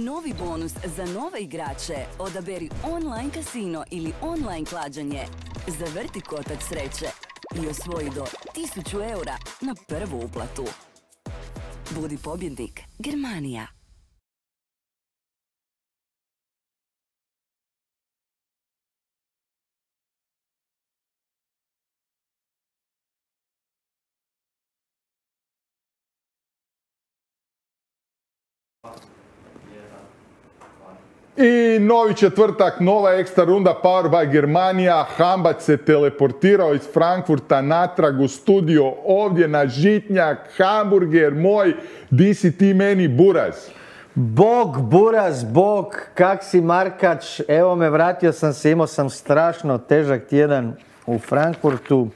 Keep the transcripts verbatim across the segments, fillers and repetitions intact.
Novi bonus za nove igrače. Odaberi online kasino ili online klađenje. Zavrti kotač sreće i osvoji do tisuću eura na prvu uplatu. Budi pobjednik. Germanija. I novi četvrtak, nova ekstra runda Power by Germanija. Hambac se teleportirao iz Frankfurta natrag u studio ovdje na Žitnjak. Hamburger moj, di si ti meni buraz? Bog, buraz, bog, kak si Markač, evo me, vratio sam se, imao sam strašno težak tjedan u Frankfurtu.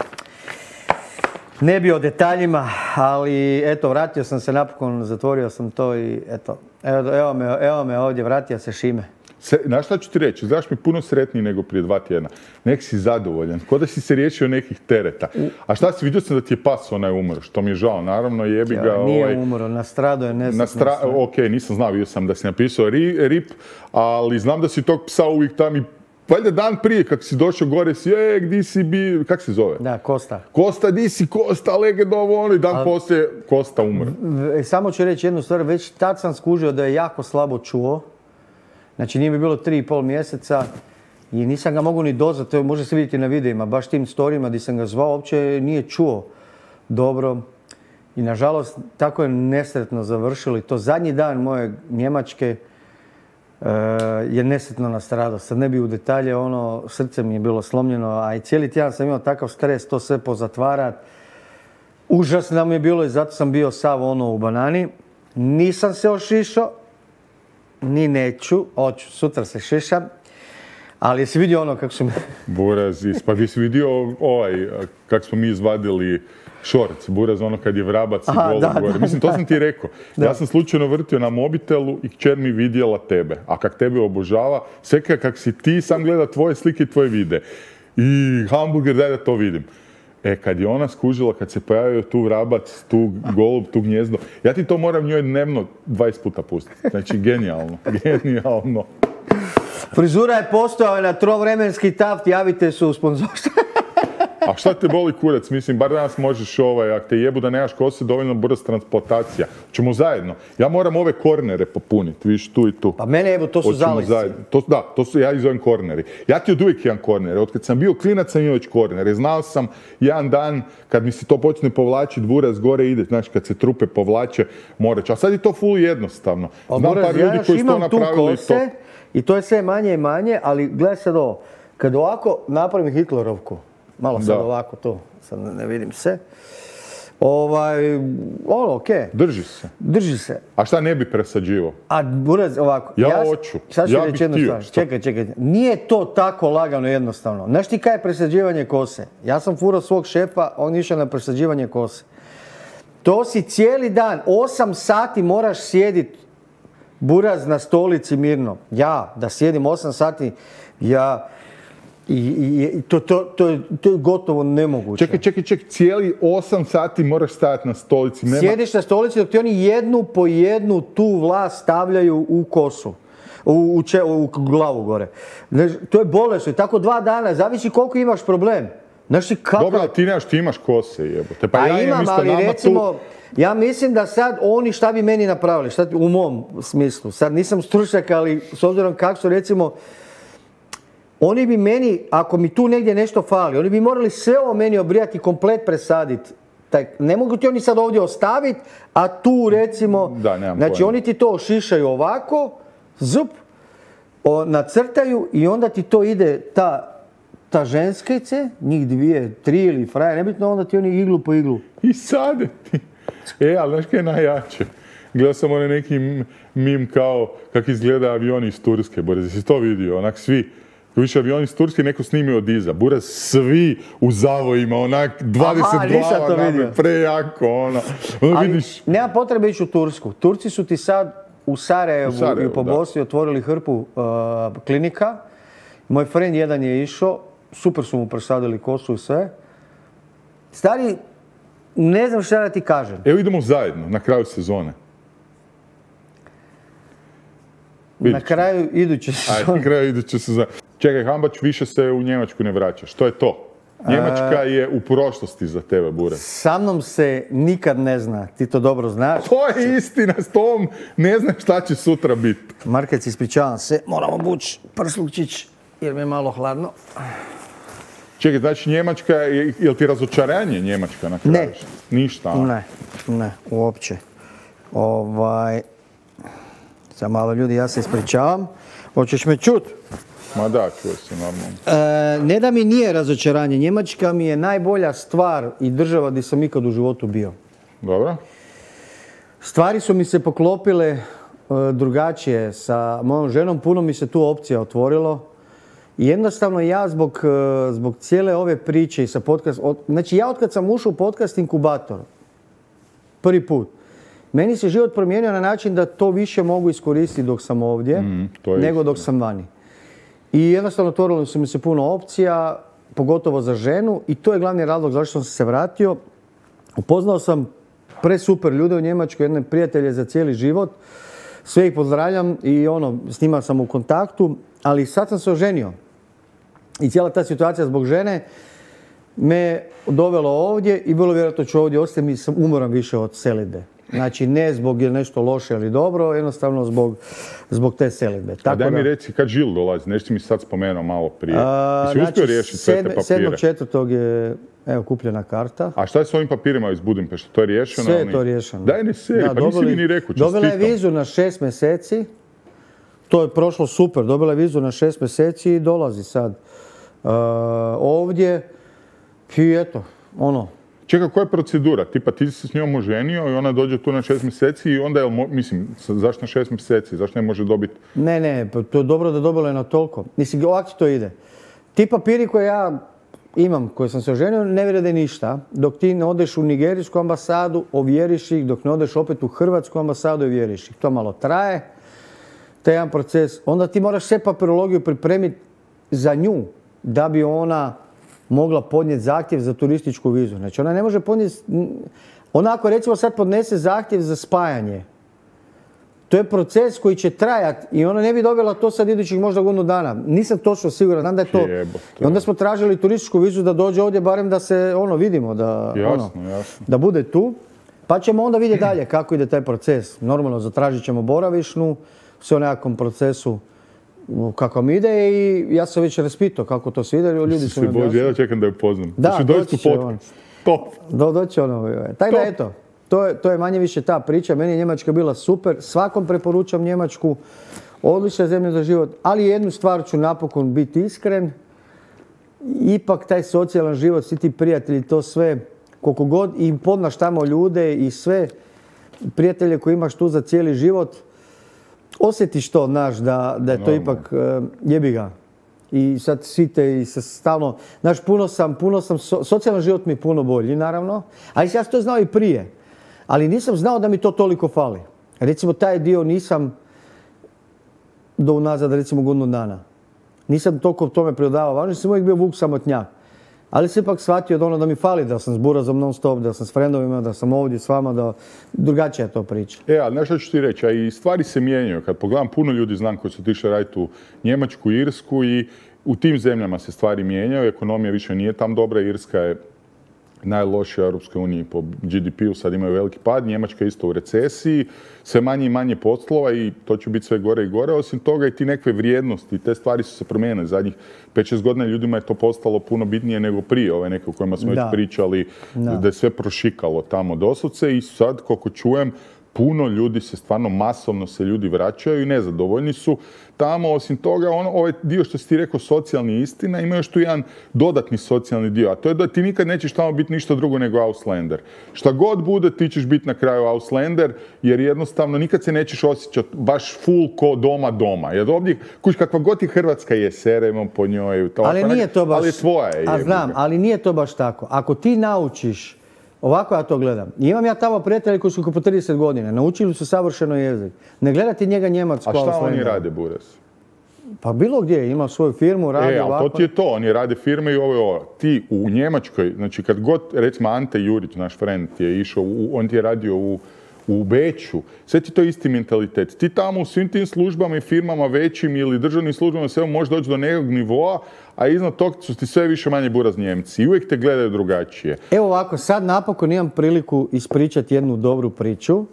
Ne bi o detaljima, ali eto, vratio sam se napokon, zatvorio sam to i eto, evo, evo, me, evo me ovdje, vratio se Šime. Se, znaš šta ću ti reći? Znaš mi puno sretniji nego prije dva tjedna. Nek si zadovoljan, ko da si se riješio nekih tereta. A šta si, vidio sam da ti je pas onaj umro, što mi je žao, naravno jebi ga... Ja, nije ovaj, umro, nastradao je nesretno. Nastra... Ok, nisam znao, vidio sam da si napisao ri, rip, ali znam da si tog psa uvijek tam i valjda dan prije, kako si došao gore, si, e, gdje si bi, kak se zove? Da, Kosta. Kosta, di si Kosta, legendovo ono, i dan A... poslije Kosta umre. Samo ću reći jednu stvar, već tad sam skužio da je jako slabo čuo. Znači nije mi bilo tri i pol mjeseca i nisam ga mogu ni dozvati, to može se vidjeti na videima, baš tim storijima gdje sam ga zvao, uopće nije čuo dobro. I nažalost, tako je nesretno završilo. To zadnji dan moje Njemačke uh, je nesretno nastradao. Sad ne bi u detalje, ono, srce mi je bilo slomljeno, a i cijeli tjedan sam imao takav stres, to sve pozatvarat. Užasno mi je bilo i zato sam bio sav ono u banani. Nisam se ošišao, ni neću, hoću, sutra se šišam, ali jesi vidio ono kako su me... Buraz, pa bi si vidio ovaj, kako smo mi izvadili šorc, buraz, ono kad je vrabac i golo gore. Mislim, to sam ti rekao. Da. Ja sam slučajno vrtio na mobitelu i kćer mi vidjela tebe. A kak tebe obožava, sve kak si ti, sam gleda tvoje slike i tvoje vide. I hamburger, daj da to vidim. E, kad je ona skužila, kad se pojavio tu vrabac, tu golub, tu gnjezdo, ja ti to moram njoj dnevno dvadeset puta pustiti. Znači, genijalno, genijalno. Frizura je postojala na trovremenski taft, javite se u sponzorstvo. A šta te boli kurac? Mislim, bar danas možeš ovaj, ako te jebu da nemaš kose, dovoljno brz transplantacija. Ćemo zajedno. Ja moram ove kornere popuniti, viš, tu i tu. Pa mene jebu, to su zalisci. To, da, to su, ja ih zovem korneri. Ja ti od uvijek imam kornere. Od kad sam bio klinac sam imao već kornere. Znao sam jedan dan, kad mi se to počne povlačiti, buraz gore ide, znači kad se trupe povlače, morat ću. A sad je to full jednostavno. Znam buraz, par ljudi ja koji su to napravili. Kose, to... I to je sve manje i manje, ali gledaj sad ovo. Kad ovako napravim Hitlerovku, malo sad da. Ovako to, sad ne vidim se. Ovaj, ono, okej. Okay. Drži se. Drži se. A šta ne bi presađivo? A buraz, ovako. Ja, ja hoću. Sad ću ja reći jednu stvar. Čekaj, čekaj. Nije to tako lagano jednostavno. Znaš ti kaj je presađivanje kose? Ja sam furao svog šefa, on išao na presađivanje kose. To si cijeli dan, osam sati moraš sjediti buraz na stolici mirno. Ja, da sjedim osam sati, ja... I, i, i to, to, to, to je gotovo nemoguće. Čekaj, čekaj, čekaj, cijeli osam sati moraš stajati na stolici. Nema... Sjediš na stolici dok ti oni jednu po jednu tu vlast stavljaju u kosu. U, u, če, u glavu gore. To je bolesno. Tako dva dana, zavisi koliko imaš problem. Znaš ti kako... Dobro, ti nemaš, ti imaš kose, jebote. Pa A ja imam, isto ali nama recimo, tu... ja mislim da sad oni šta bi meni napravili, šta, u mom smislu. Sad nisam stručnjak, ali s obzirom kako su recimo... Oni bi meni, ako mi tu negdje nešto fali, oni bi morali sve ovo meni obrijati, komplet presaditi. Ne mogu ti oni sad ovdje ostaviti, a tu recimo... Da, nemam znači pojma. oni ti to ošišaju ovako, zup, o, nacrtaju i onda ti to ide ta, ta ženskice, njih dvije, tri ili fraje, nebitno, onda ti oni iglu po iglu. I sade ti. E, ali znaš kaj je najjače? Gledao sam onaj neki mim kao kak izgleda avioni iz Turske, Boris, jesi to vidio? Onak svi. Više avioni iz Turske neko snimio od iza. Buraz svi u zavojima, onak dvadeset glava name, prejako, ono. Ono ali vidiš... nema potrebe ići u Tursku. Turci su ti sad u Sarajevu, u Sarajevu i po Bosni otvorili hrpu uh, klinika. Moj friend jedan je išao, super su mu presadili kosu i sve. Stari, ne znam šta da ti kažem. Evo idemo zajedno, na kraju sezone. Na kraju iduće sezone. Ajde, na kraju iduće sezone. Čekaj, Hambač, više se u Njemačku ne vraća. Što je to? Njemačka je u prošlosti za tebe, Bure. Sa mnom se nikad ne zna, ti to dobro znaš. To je istina, s tom ne znam šta će sutra biti. Markec, ispričavam se, moramo bući prslukčić jer mi je malo hladno. Čekaj, znači Njemačka, je li ti razočaranje Njemačka na kraju? Ne. Ništa? A? Ne, ne, uopće. Ovaj, sad malo ljudi, ja se ispričavam. Hoćeš me čut? Ma da, čuo se normalno. E, ne da mi nije razočaranje, Njemačka mi je najbolja stvar i država gdje sam ikad u životu bio. Dobro. Stvari su mi se poklopile e, drugačije sa mojom ženom, puno mi se tu opcija otvorilo. I jednostavno ja zbog, e, zbog cijele ove priče i sa podcast... Od, znači ja otkad sam ušao u podcast inkubator, prvi put, meni se život promijenio na način da to više mogu iskoristiti dok sam ovdje, mm, nego dok sam vani. I jednostavno otvorilo su mi se puno opcija, pogotovo za ženu, i to je glavni razlog zašto sam se vratio. Upoznao sam presuper ljude u Njemačkoj, jedne prijatelje za cijeli život. Sve ih pozdravljam i ono, s njima sam u kontaktu, ali sad sam se oženio. I cijela ta situacija zbog žene me dovela ovdje i vrlo vjerojatno ću ovdje ostati, mi sam umoran više od selidbe. Znači ne zbog je nešto loše ili dobro, jednostavno zbog, zbog te selidbe. A daj mi da... reci kad Žil dolazi, nešto si mi sad spomenuo malo prije. Jesi znači, uspio riješiti sve te papire? sedmog četvrtog je evo, kupljena karta. A šta je s ovim papirima iz Budimpešte? To je riješeno? Sve je to riješeno. Daj ne se, da, pa nisi mi ni rekao, čestitam. Dobila je vizu na šest mjeseci, to je prošlo super, dobila je vizu na šest mjeseci i dolazi sad uh, ovdje i eto, ono. Čekaj, koja je procedura? Tipa ti si s njom oženio i ona dođe tu na šest mjeseci i onda je, mislim, zašto na šest mjeseci? Zašto ne može dobiti? Ne, ne, to je dobro da dobila je na toliko. Mislim, ovako to ide. Ti papiri koje ja imam, koje sam se oženio, ne vrijede ništa. Dok ti ne odeš u nigerijsku ambasadu, ovjeriš ih, dok ne odeš opet u hrvatsku ambasadu, ovjeriš ih. To malo traje, taj jedan proces. Onda ti moraš sve papirologiju pripremiti za nju, da bi ona mogla podnijeti zahtjev za turističku vizu. Znači ona ne može podnijeti... Ona ako recimo sad podnese zahtjev za spajanje, to je proces koji će trajati i ona ne bi dobila to sad idućih možda godinu dana. Nisam točno siguran, znam da je to... I onda smo tražili turističku vizu da dođe ovdje, barem da se ono vidimo, da, jasno, ono, jasno. da bude tu. Pa ćemo onda vidjeti dalje kako ide taj proces. Normalno zatražit ćemo boravišnu, sve u nekakvom procesu kako mi ide i ja sam već raspitao kako to sve ide. Ljudi su mi objasnili. Ja čekam da je upoznam. Da, doći će on. Top. Do, doći ono. Tako da eto, to je, to je manje više ta priča. Meni je Njemačka bila super. Svakom preporučam Njemačku. Odlična zemlja za život. Ali jednu stvar ću napokon biti iskren. Ipak taj socijalan život, svi ti prijatelji, to sve, koliko god im podnaš tamo ljude i sve prijatelje koje imaš tu za cijeli život, osjetiš to, znaš, da, da je to ipak uh, jebi ga. I sad svi te i se stalno, znaš, puno sam, puno sam, so, socijalan život mi je puno bolji, naravno. Ali ja sam to znao i prije. Ali nisam znao da mi to toliko fali. Recimo, taj dio nisam do unazad, recimo, godinu dana. Nisam toliko tome pridodavao važno, sam uvijek bio vuk samotnjak. Ali sam ipak shvatio da ono da mi fali, da sam s Burazom non stop, da sam s frendovima, da sam ovdje s vama, da drugačija to priča. E, ali nešto ću ti reći, a i stvari se mijenjaju. Kad pogledam, puno ljudi znam koji su otišli raditi u Njemačku, Irsku i u tim zemljama se stvari mijenjaju, ekonomija više nije tam dobra, Irska je najlošija u Europskoj uniji po G D P-u, sad imaju veliki pad, Njemačka je isto u recesiji, sve manje i manje poslova i to će biti sve gore i gore. Osim toga i ti nekakve vrijednosti, te stvari su se promijenile. Zadnjih pet šest godina ljudima je to postalo puno bitnije nego prije, ove neke o kojima smo već pričali, da. da je sve prošikalo tamo doslovce i sad, koliko čujem, puno ljudi se stvarno masovno se ljudi vraćaju i nezadovoljni su tamo. Osim toga, ono, ovaj dio što si ti rekao socijalni istina, ima još tu jedan dodatni socijalni dio, a to je da ti nikad nećeš tamo biti ništa drugo nego Auslander. Šta god bude, ti ćeš biti na kraju Auslander, jer jednostavno nikad se nećeš osjećati baš full ko doma doma. Jer ovdje, kuć, kakva god i Hrvatska je, seremo po njoj, to, ali nije to baš, ali tvoja je. A znam, ali nije to baš tako. Ako ti naučiš, ovako ja to gledam. I imam ja tamo prijatelje koji su po trideset godina, naučili su savršeno jezik. Ne gledati njega Njemac. A šta oni rade, Buras? Pa bilo gdje, ima svoju firmu, radi e, ovako. E, to ti je to, oni rade firme i ovo je ovo. Ti u Njemačkoj, znači kad god, recimo Ante Jurić, naš friend, je išao, u, on ti je radio u, u Beču, sve ti to isti mentalitet. Ti tamo u svim tim službama i firmama većim ili državnim službama sve možeš doći do nekog nivoa, a iznad tog su ti sve više manje buraz Njemci i uvijek te gledaju drugačije. Evo ovako, sad napokon imam priliku ispričati jednu dobru priču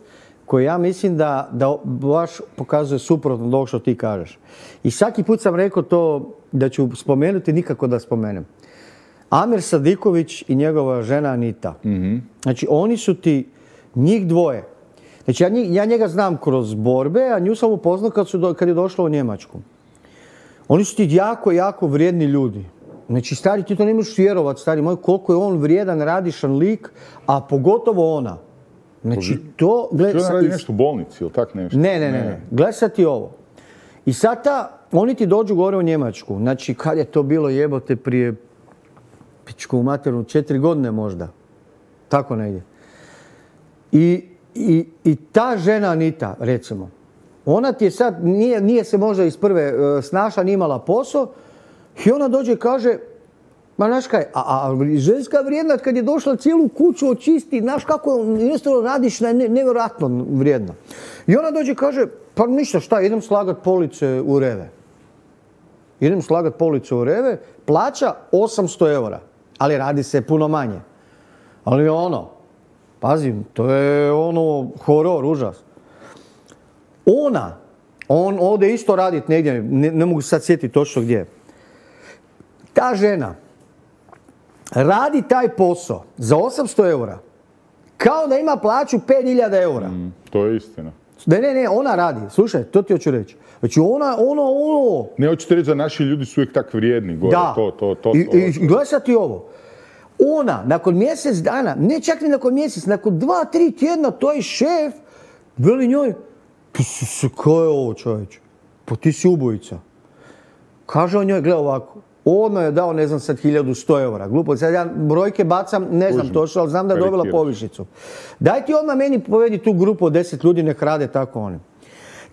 koju ja mislim da, da baš pokazuje suprotno od ovog što ti kažeš. I svaki put sam rekao to da ću spomenuti, nikako da spomenem. Amir Sadiković i njegova žena Anita. Mm-hmm. Znači, oni su ti, njih dvoje. Znači, ja, njih, ja njega znam kroz borbe, a nju sam upoznao kad, su do, kad je došla u Njemačku. Oni su ti jako, jako vrijedni ljudi. Znači, stari, ti to ne možeš vjerovat, stari moj, koliko je on vrijedan, radišan lik, a pogotovo ona. Znači, to... Gled, što radi nešto u bolnici ili tak nešto? Ne, ne, ne. ne. Gledaj sad ti ovo. I sad ta, oni ti dođu gore u Njemačku. Znači, kad je to bilo jebote prije pičku materinu, četiri godine možda. Tako negdje. I, i, i ta žena Anita, recimo, ona ti je sad, nije, nije se možda iz prve uh, snaša, nije imala posao, i ona dođe i kaže, ma znaš kaj, a, a ženska vrijedna kad je došla cijelu kuću očisti, znaš kako jednostavno radiš, ne, nevjerojatno vrijedna. I ona dođe i kaže, pa ništa, šta, idem slagat police u Reve. Idem slagat police u Reve, plaća osamsto eura, ali radi se puno manje. Ali ono, pazi, to je ono horor, užas. Ona, on ode isto radit negdje, ne, ne mogu sad sjetiti točno gdje. Ta žena radi taj posao za osamsto eura kao da ima plaću pet hiljada eura. Mm, to je istina. Ne, ne, ne, ona radi. Slušaj, to ti hoću reći. Znači ona, ono, ono... Ne, hoću ti reći da naši ljudi su uvijek tak vrijedni. Gore. Da. To, to, to, I, to, i gledaj sad ti ovo. Ona, nakon mjesec dana, ne čak ni nakon mjesec, nakon dva, tri tjedna, to je šef, veli njoj, pa ko je ovo čovječ? Pa ti si ubojica. Kaže on njoj, gledaj ovako, ono je dao, ne znam sad, hiljadu sto eura. Glupo, sad ja brojke bacam, ne znam točno, ali znam da je dobila povišicu. Daj ti odmah meni povedi tu grupu od deset ljudi, nek rade tako oni.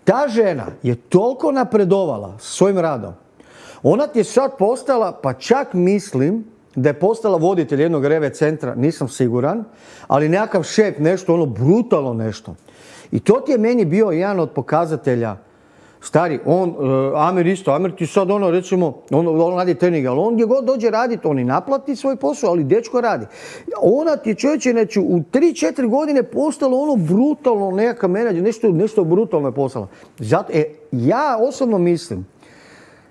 Ta žena je toliko napredovala svojim radom. Ona ti je sad postala, pa čak mislim da je postala voditelj jednog reve centra, nisam siguran, ali nekakav šef, nešto, ono brutalno nešto. I to ti je meni bio jedan od pokazatelja. Stari, on, uh, Amir isto, Amir ti sad ono, recimo, on, on radi trening, ali on gdje god dođe raditi, on i naplati svoj posao, ali dečko radi. Ona ti je čovječe, znači, u tri četiri godine postalo ono brutalno nekakav menadžer, nešto, nešto brutalno je postalo. Zato, e, ja osobno mislim,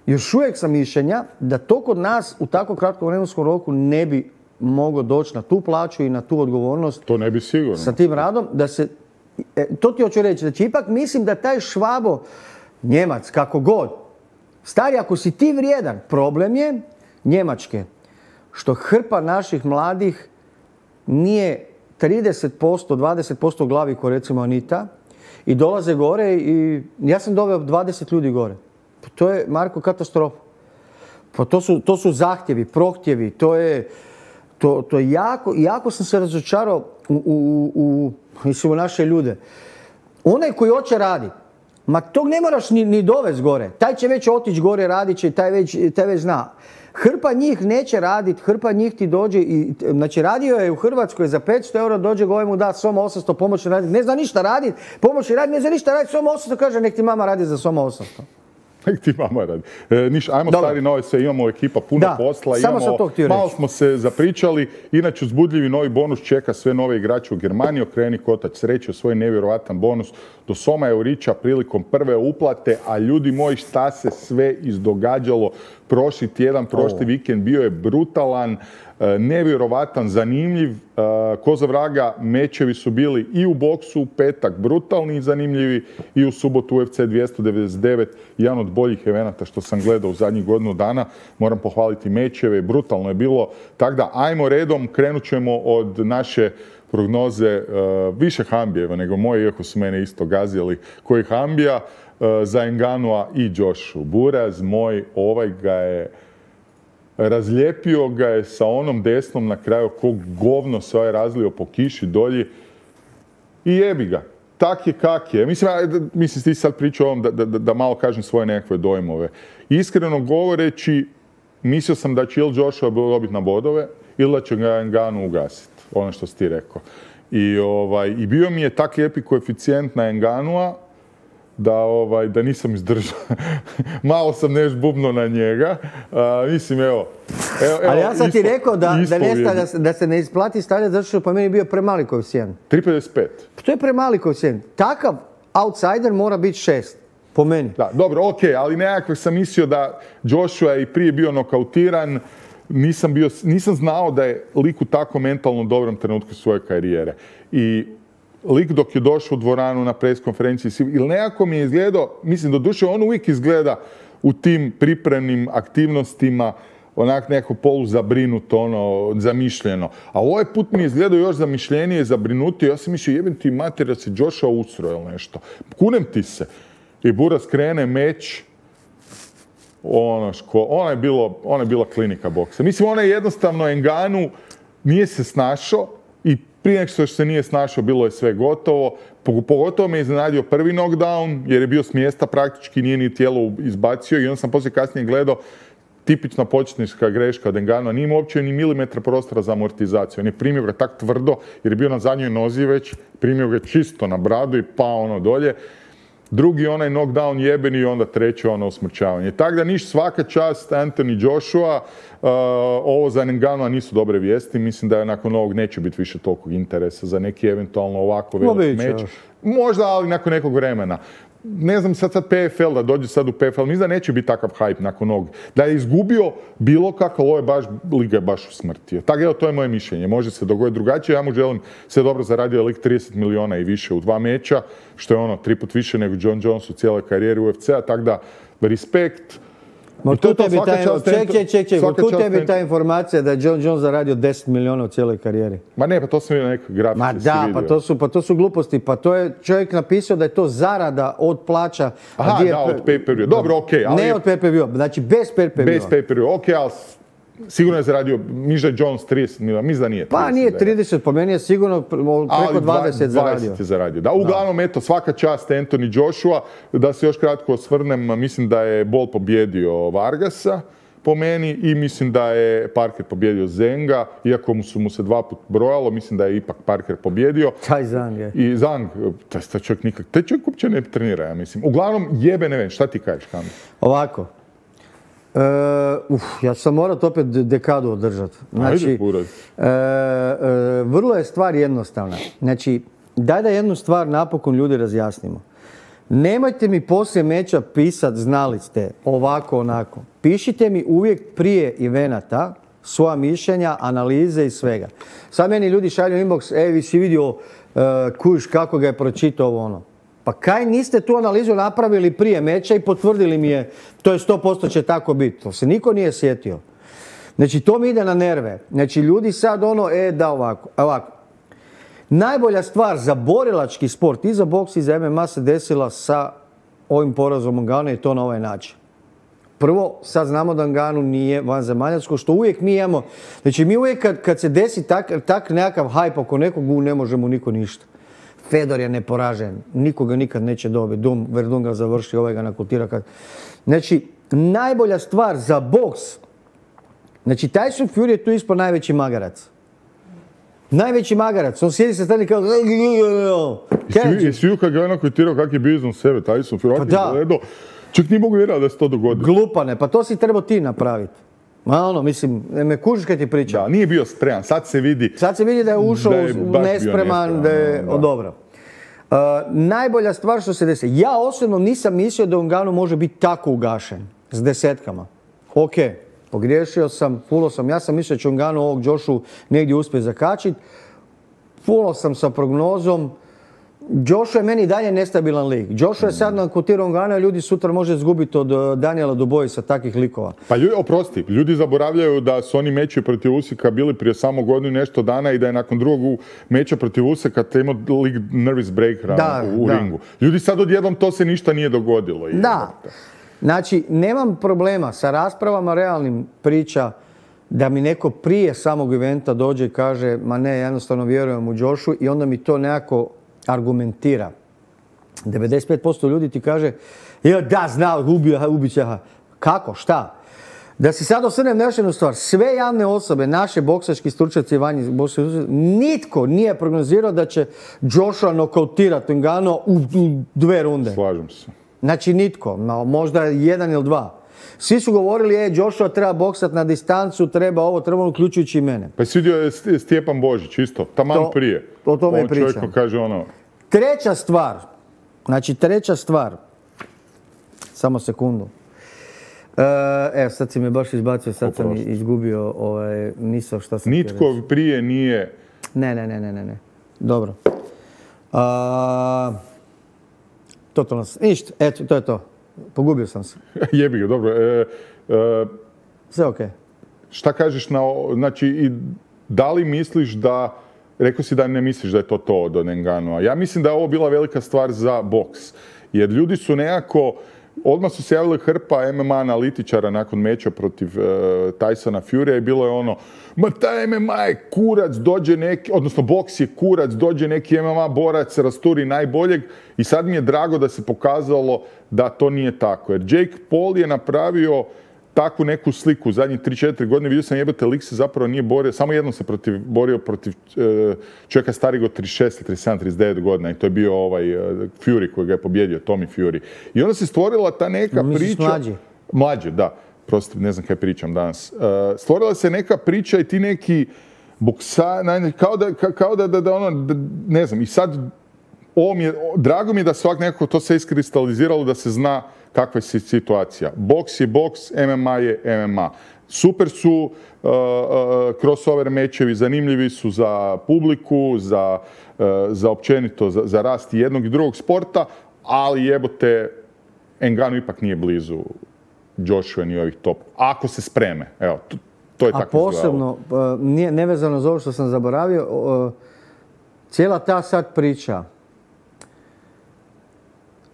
još uvijek sam mišljenja da to kod nas u tako kratkom vremenskom roku ne bi moglo doći na tu plaću i na tu odgovornost. To ne bi sigurno. Sa tim radom, da se, e, to ti hoću reći, znači ipak mislim da taj Švabo, Njemac, kako god. Stari, ako si ti vrijedan, problem je Njemačke. Što hrpa naših mladih nije trideset posto, dvadeset posto u glavi ko recimo Anita i dolaze gore i ja sam doveo dvadeset ljudi gore. Pa to je, Marko, katastrofa. Pa to su, to su zahtjevi, prohtjevi, to je, to, to je jako, jako sam se razočarao u, u, u, mislim, u naše ljude. Onaj koji hoće raditi, ma tog ne moraš ni, ni dovesti gore. Taj će već otići gore, radit će, taj već, taj već zna. Hrpa njih neće raditi, hrpa njih ti dođe i, znači radio je u Hrvatskoj za petsto eura, dođe gore mu da Soma osamsto pomoći raditi. Ne zna ništa raditi, pomoći raditi, ne zna ništa raditi, Soma osamsto kaže nek ti mama radi za Soma osamsto. Nek ti mama radi. E, niš, ajmo Dobar. Stari nove se, imamo ekipa puno da, posla, samo imamo, malo smo se zapričali, inače uzbudljivi novi bonus čeka sve nove igrače u Germaniji, okreni kotač sreće u svoj nevjerojatan bonus do Soma Eurića prilikom prve uplate, a ljudi moji šta se sve izdogađalo prošli tjedan, prošli oh. vikend, bio je brutalan, nevjerovatan, zanimljiv. Ko za vraga, mečevi su bili i u boksu u petak brutalni i zanimljivi i u subotu U F C dvjesto devedeset devet, jedan od boljih evenata što sam gledao u zadnjih godinu dana. Moram pohvaliti mečeve, brutalno je bilo. Tako da, ajmo redom, krenut ćemo od naše prognoze uh, više Hambijeva nego moje, iako su mene isto gazili koji Hambija, uh, za Ngannou'a i Joshu. Buraz moj, ovaj ga je razlijepio ga je sa onom desnom na kraju, kog govno se ovaj razlio po kiši dolji i jebi ga. Tak je kak je. Mislim, mislim ti sad pričao o ovom da, da, da malo kažem svoje nekakve dojmove. Iskreno govoreći, mislio sam da će ili Joshua dobiti na bodove ili da će ga Ngannou ugasiti. Ono što si ti rekao. I, ovaj, i bio mi je tak lijepi koeficijent na Ngannou-a da, ovaj, da nisam izdržao. Malo sam neš bubno na njega. A, mislim, evo, evo, evo... Ali ja sam ti ispo, rekao da, da, ne stavlja, da se ne isplati stavljati zato što po meni bio premali koeficijent. tri pedeset pet. To je premali koeficijent. Takav outsider mora biti šest. Po meni. Da, dobro, ok, ali nekako sam mislio da Joshua je i prije bio nokautiran. Nisam, bio, nisam znao da je lik u tako mentalno dobrom trenutku svoje karijere. I lik dok je došao u dvoranu na pres konferenciji, ili nekako mi je izgledao, mislim, doduše on uvijek izgleda u tim pripremnim aktivnostima onak neko poluzabrinuto, ono, zamišljeno. A ovaj put mi je izgledao još zamišljenije, zabrinutio. Ja sam mislio, jebem ti mater da se Joshua usro ili nešto. Kunem ti se. I Buras krene meč. Ono, ško, ona, je bilo, ona je bila klinika boksa. Mislim, ona je jednostavno Ngannou nije se snašao i prije nego što se nije snašao bilo je sve gotovo. Pogotovo me iznenadio prvi knockdown jer je bio s mjesta praktički, nije ni tijelo izbacio i onda sam poslije kasnije gledao tipična početnička greška od Ngannoua. Nije imao uopće ni milimetra prostora za amortizaciju. On je primio ga tak tvrdo jer je bio na zadnjoj nozi već, primio ga čisto na bradu i pao ono dolje. Drugi onaj knockdown jebeni i onda treći ono usmrćavanje. Tako da niš svaka čast Anthony Joshua, uh, ovo za Ngannoua nisu dobre vijesti. Mislim da je nakon ovog neće biti više tolikog interesa za neki eventualno ovako velik meč. Možda, ali nakon nekog vremena. Ne znam sad sad P F L, da dođe sad u P F L, mislim da neće biti takav hype nakon ovog. Da je izgubio bilo kako, ovo je baš, liga je baš usmrtio. Tako evo, to je moje mišljenje. Može se dogoditi drugačije. Ja mu želim sve dobro, zaradio lik trideset miliona i više u dva meča, što je ono tri put više nego John Jones u cijeloj karijeri U F C-a, tako da respekt. Otkud tebi ta, ček, ček, ček, ček, otkud tebi ta informacija da je John Jones zaradio deset miliona u cijeloj karijeri? Ma ne, pa to sam vidio neke grafice. Ma da, pa to, su, pa to su gluposti. Pa to je čovjek napisao da je to zarada od plaća. Aha, da, od pay-per-view. Dobro, okej. Okay, ali... Ne od pay-per-view, znači bez pay-per-view. Bez pay-per-view, okej, okay, ali sigurno je zaradio, miš da je Jones trideset miliona, mislim da nije trideset. Pa nije trideset, po meni je sigurno preko dvadeset zaradio. dvadeset je zaradio. Da, uglavnom, eto, svaka čast Anthony Joshua. Da se još kratko osvrnem, mislim da je Bol pobjedio Vargasa, po meni, i mislim da je Parker pobjedio Zenga, iako mu su mu se dva put brojalo, mislim da je ipak Parker pobjedio. Taj Zang je. I Zang, taj čovjek nikak, taj čovjek uopće ne trenira, ja mislim. Uglavnom, jebe ne vem, šta ti kažeš, Kamil? Ovako. Uh, uf, ja sam morat opet dekadu održati. Znači, Ajde, uh, uh, vrlo je stvar jednostavna. Znači, daj da jednu stvar napokon ljudi razjasnimo. Nemojte mi poslije meča pisat znali ste, ovako, onako. Pišite mi uvijek prije evenata svoja mišljenja, analize i svega. Sad meni ljudi šalju inbox, e, vi si vidio uh, kuš kako ga je pročitao ovo ono. Pa kaj niste tu analizu napravili prije meča i potvrdili mi je, to je sto posto će tako biti. To se niko nije sjetio. Znači, to mi ide na nerve. Znači, ljudi sad ono, e, da ovako, ovako. Najbolja stvar za borilački sport i za boks i za M M A se desila sa ovim porazom Ngannoua i to na ovaj način. Prvo, sad znamo da Ngannou nije vanzemaljac, što uvijek mi imamo. Znači, mi uvijek kad, kad se desi tak, tak nekakav hype oko nekog, ne možemo niko ništa. Fedor je neporažen, nikoga nikad neće dobiti. Dum, Verdun ga završi, ovaj ga nakutira. Kad... Znači, najbolja stvar za boks, znači Tyson Fury je tu ispod najveći magarac. Najveći magarac, on sjedi sa strane kao... Jesi vidio kad ga je nakutirao kak je bio iznad sebe, Tyson Fury, pa da. Gledao, čak nije mogu vjerati da se to dogodilo. Glupane, pa to si trebao ti napraviti. Ma ono, mislim, me kužiš kad ti pričam. Da, nije bio spreman, sad se vidi... Sad se vidi da je ušao da je nespreman, da je... Da. Dobro. Uh, najbolja stvar što se desi, ja osobno nisam mislio da Ngannou može biti tako ugašen, s desetkama. Ok, pogriješio sam, fulao sam, ja sam mislio da će Ngannou ovog Joshu negdje uspjeti zakačiti. Fulao sam sa prognozom. Joshua je meni dalje nestabilan lik. Joshua je sad nakutirao Ngannoua, ljudi sutra može izgubiti od Daniela Duboisa sa takvih likova. Pa ljudi, oprosti, ljudi zaboravljaju da su oni meči protiv Usika bili prije samo godinu i nešto dana i da je nakon drugog meča protiv Usika te imao lik nervous breaker da, u, u da. ringu. Ljudi sad odjednom to se ništa nije dogodilo. Da. Znači, nemam problema sa raspravama realnim priča da mi neko prije samog eventa dođe i kaže ma ne, jednostavno vjerujem u Joshu i onda mi to nekako argumentira. devedeset pet posto ljudi ti kaže ja da, znao, ubio, ubit će. Kako, šta? Da si sad osvrnem na još jednu stvar. Sve javne osobe, naše boksački stručnjaci, vanji boksački stručnjaci, nitko nije prognozirao da će Joshua nokautirati Ngannou u, u dve runde. Slažem se. Znači nitko, možda jedan ili dva. Svi su govorili, e, Joshua treba boksat na distancu, treba ovo, treba ono, uključujući i mene. Pa si vidio je Stjepan Božić, isto, taman to, prije. O tome on pričam. čovjek kaže ono... Treća stvar, znači treća stvar, samo sekundu. Evo, sad si me baš izbacio, sad Oprosti. sam izgubio ovaj, misao šta sam Nitko reći. Prije nije... Ne, ne, ne, ne, ne, ne. Dobro. A, totalno sam, ništa, eto, to je to. Pogubio sam se. Jebi ga, dobro. E, e, Sve okej. Okay. Šta kažeš na... Znači, i da li misliš da... Rekao si da ne misliš da je to to od Ngannou'a. Ja mislim da je ovo bila velika stvar za boks. Jer ljudi su nekako... Odmah su se javili hrpa M M A analitičara nakon meča protiv uh, Tysona Furya i bilo je ono, ma taj M M A je kurac, dođe neki, odnosno boks je kurac, dođe neki M M A borac, rasturi najboljeg i sad mi je drago da se pokazalo da to nije tako. Jer Jake Paul je napravio takvu neku sliku u zadnjih tri četiri godine. Vidio sam jebate, lik se zapravo nije borio, samo jednom se protiv, borio protiv uh, čovjeka starijeg od trideset šest, trideset sedam, trideset devet godina i to je bio ovaj uh, Fury koji ga je pobjedio, Tommy Fury. I onda se stvorila ta neka no, priča... Mlađi. Mlađe, da. Prosto ne znam kaj pričam danas. Uh, stvorila se neka priča i ti neki boksa, kao da, kao da, da, da ono, da, ne znam, i sad ovo mi je, drago mi je da svak nekako to se iskristaliziralo, da se zna kakva je situacija. Boks je boks, M M A je M M A. Super su uh, uh, crossover mečevi, zanimljivi su za publiku, za, uh, za općenito, za, za rast jednog i drugog sporta, ali jebote, Ngannou ipak nije blizu Joshua ni ovih top. Ako se spreme, evo, to, to je tako izgledalo. A posebno, uh, nije nevezano za ovo što sam zaboravio, uh, cijela ta sad priča.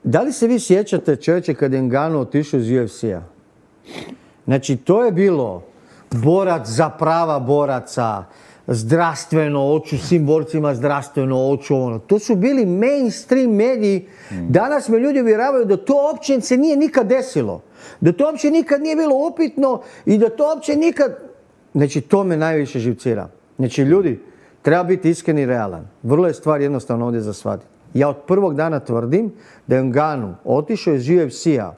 Da li se vi sjećate, čovječe, kad je Ngannou otišao iz U F C-a? Znači, to je bilo borac za prava boraca, zdravstveno oču, svim borcima zdravstveno oču, ono. To su bili mainstream mediji. Danas me ljudi uvjeravaju da to uopće se nije nikad desilo. Da to uopće nikad nije bilo upitno i da to uopće nikad... Znači, to me najviše živcira. Znači, ljudi, treba biti iskren i realan. Vrlo je stvar jednostavno ovdje za shvatiti. Ja od prvog dana tvrdim da je Ngannou otišao iz U F C-a.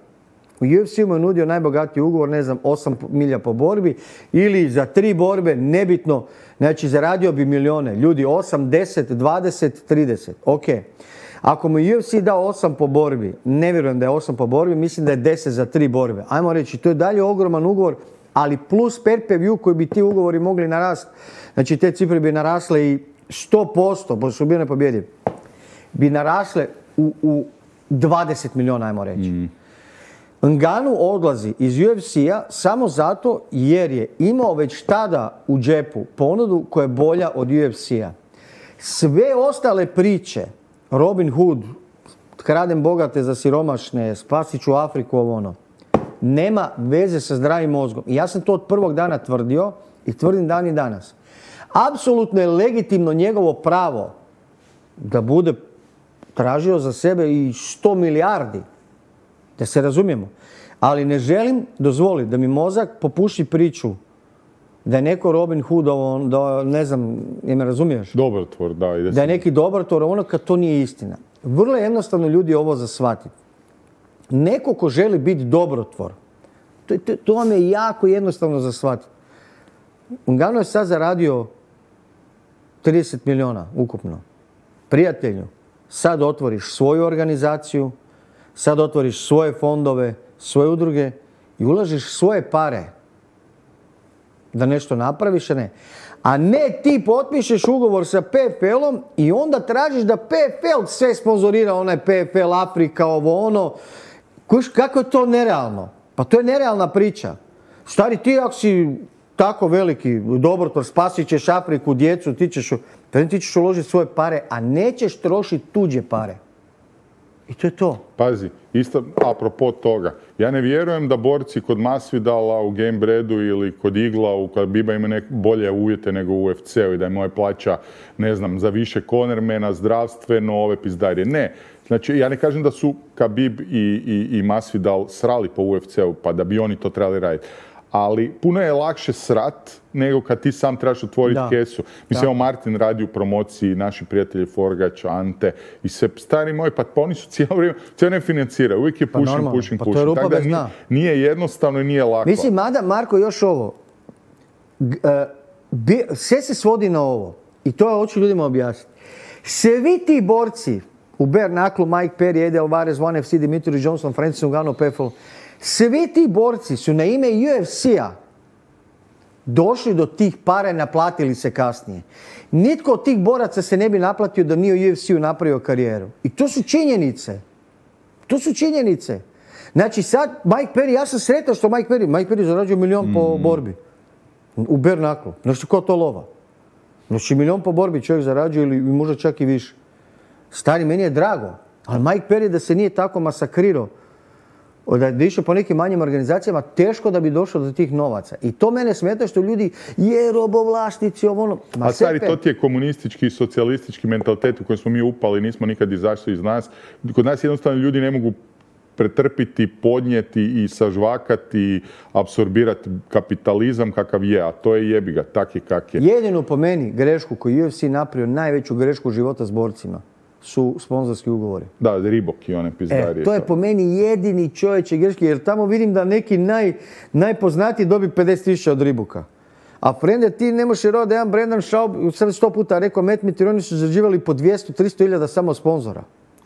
U U F C-u mu je nudio najbogatiji ugovor, ne znam, osam milija po borbi ili za tri borbe, nebitno. Znači, zaradio bi milijone. Ljudi, osam, deset, dvadeset, trideset. Ok. Ako mu U F C dao osam po borbi, ne vjerujem da je osam po borbi, mislim da je deset za tri borbe. Ajmo reći, to je dalje ogroman ugovor, ali plus pay-per-view koji bi ti ugovori mogli narast. Znači, te cifre bi narasle i sto posto, pošto su bili nepobjedivi, bi narasle u, u dvadeset milijuna, ajmo reći. Mm. Ngannou odlazi iz U F C-a samo zato jer je imao već tada u džepu ponudu koja je bolja od U F C-a. Sve ostale priče, Robin Hood, kradem bogate za siromašne, spasit ću Afriku, ovo ono, nema veze sa zdravim mozgom. I ja sam to od prvog dana tvrdio i tvrdim dan i danas. Apsolutno je legitimno njegovo pravo da bude tražio za sebe i sto milijardi. Da se razumijemo. Ali ne želim dozvoliti da mi mozak popuši priču da je neko Robin Hood, da ne znam, je me razumiješ? Dobrotvor, da. Da je neki dobrotvor, ono kad to nije istina. Vrlo je jednostavno ljudi ovo za shvatiti. Neko ko želi biti dobrotvor, to, to, to vam je jako jednostavno za shvatiti. Ngannou je sad zaradio trideset milijuna ukupno. Prijatelju, sad otvoriš svoju organizaciju, sad otvoriš svoje fondove, svoje udruge i ulažiš svoje pare da nešto napraviš, a ne. A ne ti potpišeš ugovor sa P F L-om i onda tražiš da P F L sve sponzorira, onaj P F L Afrika, ovo ono. Kuš, kako je to nerealno? Pa to je nerealna priča. Stari, ti ako si tako veliki dobrotvor, spasit ćeš Afriku, djecu, ti ćeš, ti ćeš uložiti svoje pare, a nećeš trošiti tuđe pare. I to je to. Pazi, isto apropo toga. Ja ne vjerujem da borci kod Masvidala u Gamebreadu ili kod Igla u Khabib'a imaju neke bolje uvjete nego u U F C-u i da je moja plaća, ne znam, za više cornermana, zdravstveno, ove pizdarije. Ne. Znači, ja ne kažem da su Khabib i, i, i Masvidal srali po U F C-u pa da bi oni to trebali raditi. ali puno je lakše srat nego kad ti sam trebaš otvoriti Da. kesu. Mislim, evo Martin radi u promociji, naši prijatelji Forgač, Ante i sve, stari moji, pa oni su cijelo vrijeme, cijelo ne financiraju, uvijek je pushing, normalno, pushing, pa to je pushing. rupa Tako da bez nije, dna. nije jednostavno i nije lako. Mislim, mada, Marko, još ovo. G- e, bi- sve se svodi na ovo. I to hoću ljudima objasniti. Svi ti borci u Bare Knucklu, Mike Perry, Eddie Alvarez, One F C, Dimitri Johnson, Francis Ngannou, Peffel, svi ti borci su na ime U F C-a došli do tih para i naplatili se kasnije. Nitko od tih boraca se ne bi naplatio da nije u U F C-u napravio karijeru. I to su činjenice. To su činjenice. Znači sad, Mike Perry, ja sam sretan što Mike Perry, Mike Perry zarađuje milion po borbi. U Bare Knucklu. Znači, ko to lova? Znači, milion po borbi čovjek zarađuje ili možda čak i više. Stari, meni je drago. Ali Mike Perry da se nije tako masakrirao, da je išao po nekim manjim organizacijama, teško da bi došao do tih novaca. I to mene smeta što ljudi, je robovlašnici, ovo ono. Ma A stari, sepe. to ti je komunistički i socijalistički mentalitet u kojem smo mi upali, nismo nikad izašli iz nas. Kod nas jednostavno ljudi ne mogu pretrpiti, podnijeti i sažvakati i apsorbirati kapitalizam kakav je, a to je jebiga, tak je kak je. Jedinu po meni grešku koju U F C napravio, najveću grešku života s borcima, su sponzorski ugovori. Da, Reebok i one pizdarije. E, to je po meni jedini čovječe greški, jer tamo vidim da neki naj, najpoznatiji dobi pedeset tisuća od Reeboka. A frende, ti ne možeš vjerovati da jedan Brendan Schaub, sad sto puta rekao, Matt Mitrione, oni su zarađivali po dvjesto do tristo hiljada samo sponzora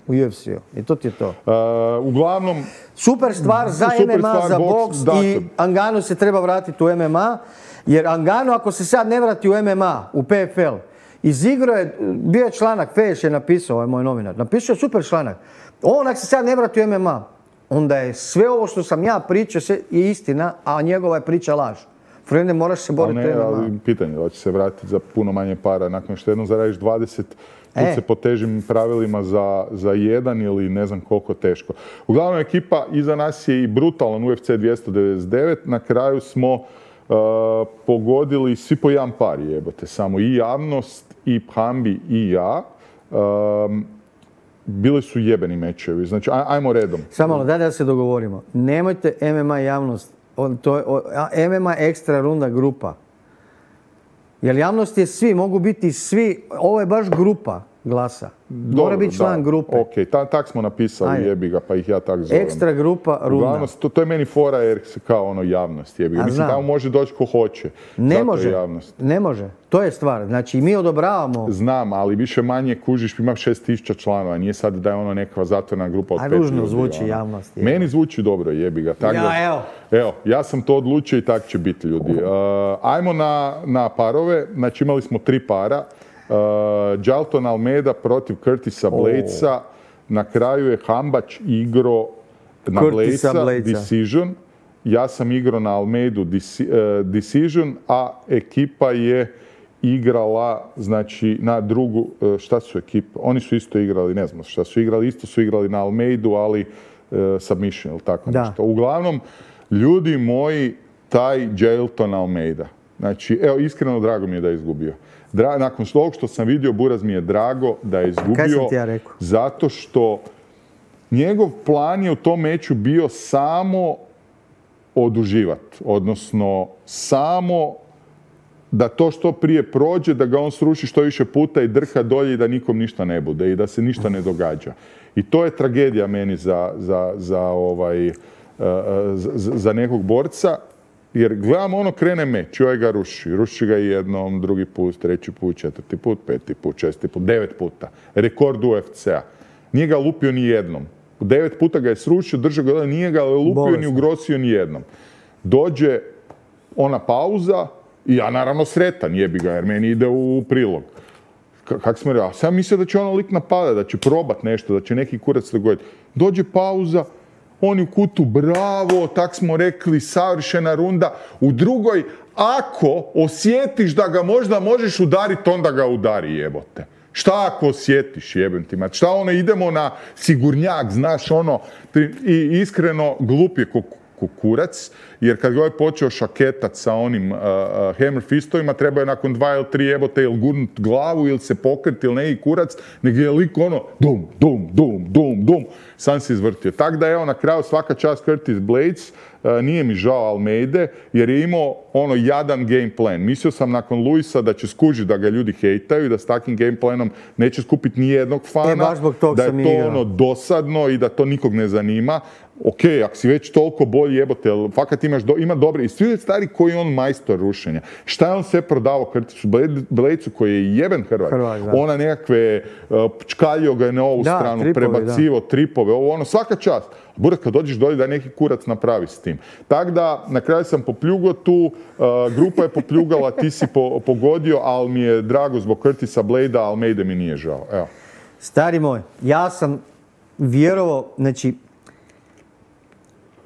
u U F C-u. I to ti je to. Uh, uglavnom, Super stvar za Super M M A, stvar, za boks, boks dakle. i Ngannou se treba vratiti u M M A, jer Ngannou ako se sad ne vrati u M M A, u P F L, izigrao je, bio je članak, Feješ je napisao, ovaj moj novinar, napisao je super članak. On ako se sad ne vrati u M M A, onda je sve ovo što sam ja pričao sve je istina, a njegova je priča laž. Frende, moraš se boriti u ne, M M A. ali pitanje da će se vratiti za puno manje para. Nakon što jednom zaradiš dvadeset, tu E. se po težim pravilima za, za jedan ili ne znam koliko teško. Uglavnom, ekipa iza nas je i brutalan U F C dvjesto devedeset devet. Na kraju smo uh, pogodili svi po jedan par, jebote. Samo i javnost, i Hambi, i ja. Um, bili su jebeni mečevi. Znači, aj, ajmo redom. Samo malo, daj da se dogovorimo. Nemojte M M A javnost, on, to je, o, a, M M A ekstra runda grupa. Jer javnost je svi, mogu biti svi, ovo je baš grupa glasa. Mora Dobro, biti član da, grupe. Ok, ta, tak smo napisali, Ajde. jebi ga, pa ih ja tak zovem. Ekstra grupa runda. Uglavnom, to, to je meni fora jer se kao ono javnost jebi ga. A Mislim, znam. tamo može doći ko hoće. Ne Zato može, je javnost. ne može. To je stvar. Znači, mi odobravamo. Znam, ali više manje kužiš, ima šest tisuća članova, nije sad da je ono neka zatvorena grupa od A pet ružno ljudi, zvuči ono. javnost, je. Meni zvuči dobro, jebi ga. Tak Ja, da- evo. Evo, ja sam to odlučio i tak će biti ljudi. Uh, ajmo na, na parove, znači imali smo tri para. Uh, Jalton Almeida protiv Curtisa Bladesa. Na kraju je Hambač igro na Curtisa Bladesa, Bladesa. decision. Ja sam igrao na Almeidu deci- uh, decision, a ekipa je igrala, znači, na drugu, uh, šta su ekipe? Oni su isto igrali, ne znam šta su igrali, isto su igrali na Almeidu, ali uh, submission ili tako Da. nešto. Uglavnom, ljudi moji, taj Jalton Almeida. Znači, evo, iskreno drago mi je da je izgubio. Dra- nakon ovog što sam vidio, Buraz mi je drago da je izgubio. Kaj sam ti ja rekao? Zato što njegov plan je u tom meču bio samo oduživati. Odnosno, samo da to što prije prođe, da ga on sruši što više puta i drka dolje i da nikom ništa ne bude i da se ništa ne događa. I to je tragedija meni za, za, za, ovaj, uh, za, za nekog borca. Jer gledam, ono krene meč, joj ga ruši. Ruši ga jednom, drugi put, treći put, četvrti put, peti put, šesti put, devet puta. Rekord U F C-a. Nije ga lupio ni jednom. Devet puta ga je srušio, držao ga, nije ga lupio Bolesno. ni ugrosio ni jednom. Dođe ona pauza i ja naravno sretan, jebi ga, jer meni ide u prilog. K- kak smo rekli, a sam mislio da će ono lik napada, da će probat nešto, da će neki kurac dogoditi. Dođe pauza, oni u kutu, bravo, tak smo rekli, savršena runda. U drugoj, ako osjetiš da ga možda možeš udariti, onda ga udari, jebote. Šta ako osjetiš, jebem ti mat? Šta ono, idemo na sigurnjak, znaš ono, i iskreno glup je ko kurac, jer kad ga je počeo šaketat sa onim uh, uh, hammer fistovima, treba je nakon dva ili tri jebote ili gurnut glavu ili se pokriti ili neki kurac, nego je lik ono dum, dum, dum, dum, dum, sam se izvrtio. Tako da evo na kraju svaka čast Curtis Blades, uh, nije mi žao Almeide, jer je imao ono jadan game plan. Mislio sam nakon Luisa da će skužiti da ga ljudi hejtaju i da s takvim game planom neće skupiti ni jednog fana, e, baš zbog tog da je sam to igrao. ono dosadno i da to nikog ne zanima. Ok, ako si već toliko bolji jebote, ali fakat imaš do, ima dobre, i svi stari koji je on majstor rušenja. Šta je on sve prodavao Curtisu Bladesu koji je jeben Hrvat? Hrvat, da. Ona nekakve, uh, čkaljio ga je na ovu da, stranu, tripovi, prebacivo, da. tripove, ovo ono, svaka čast. Burak, kad dođeš dolje da neki kurac napravi s tim. Tako da, na kraju sam popljugao tu, uh, grupa je popljugala, ti si po, pogodio, ali mi je drago zbog Curtisa Bladea, Almeide mi nije žao. Evo. Stari moj, ja sam vjerovao, znači,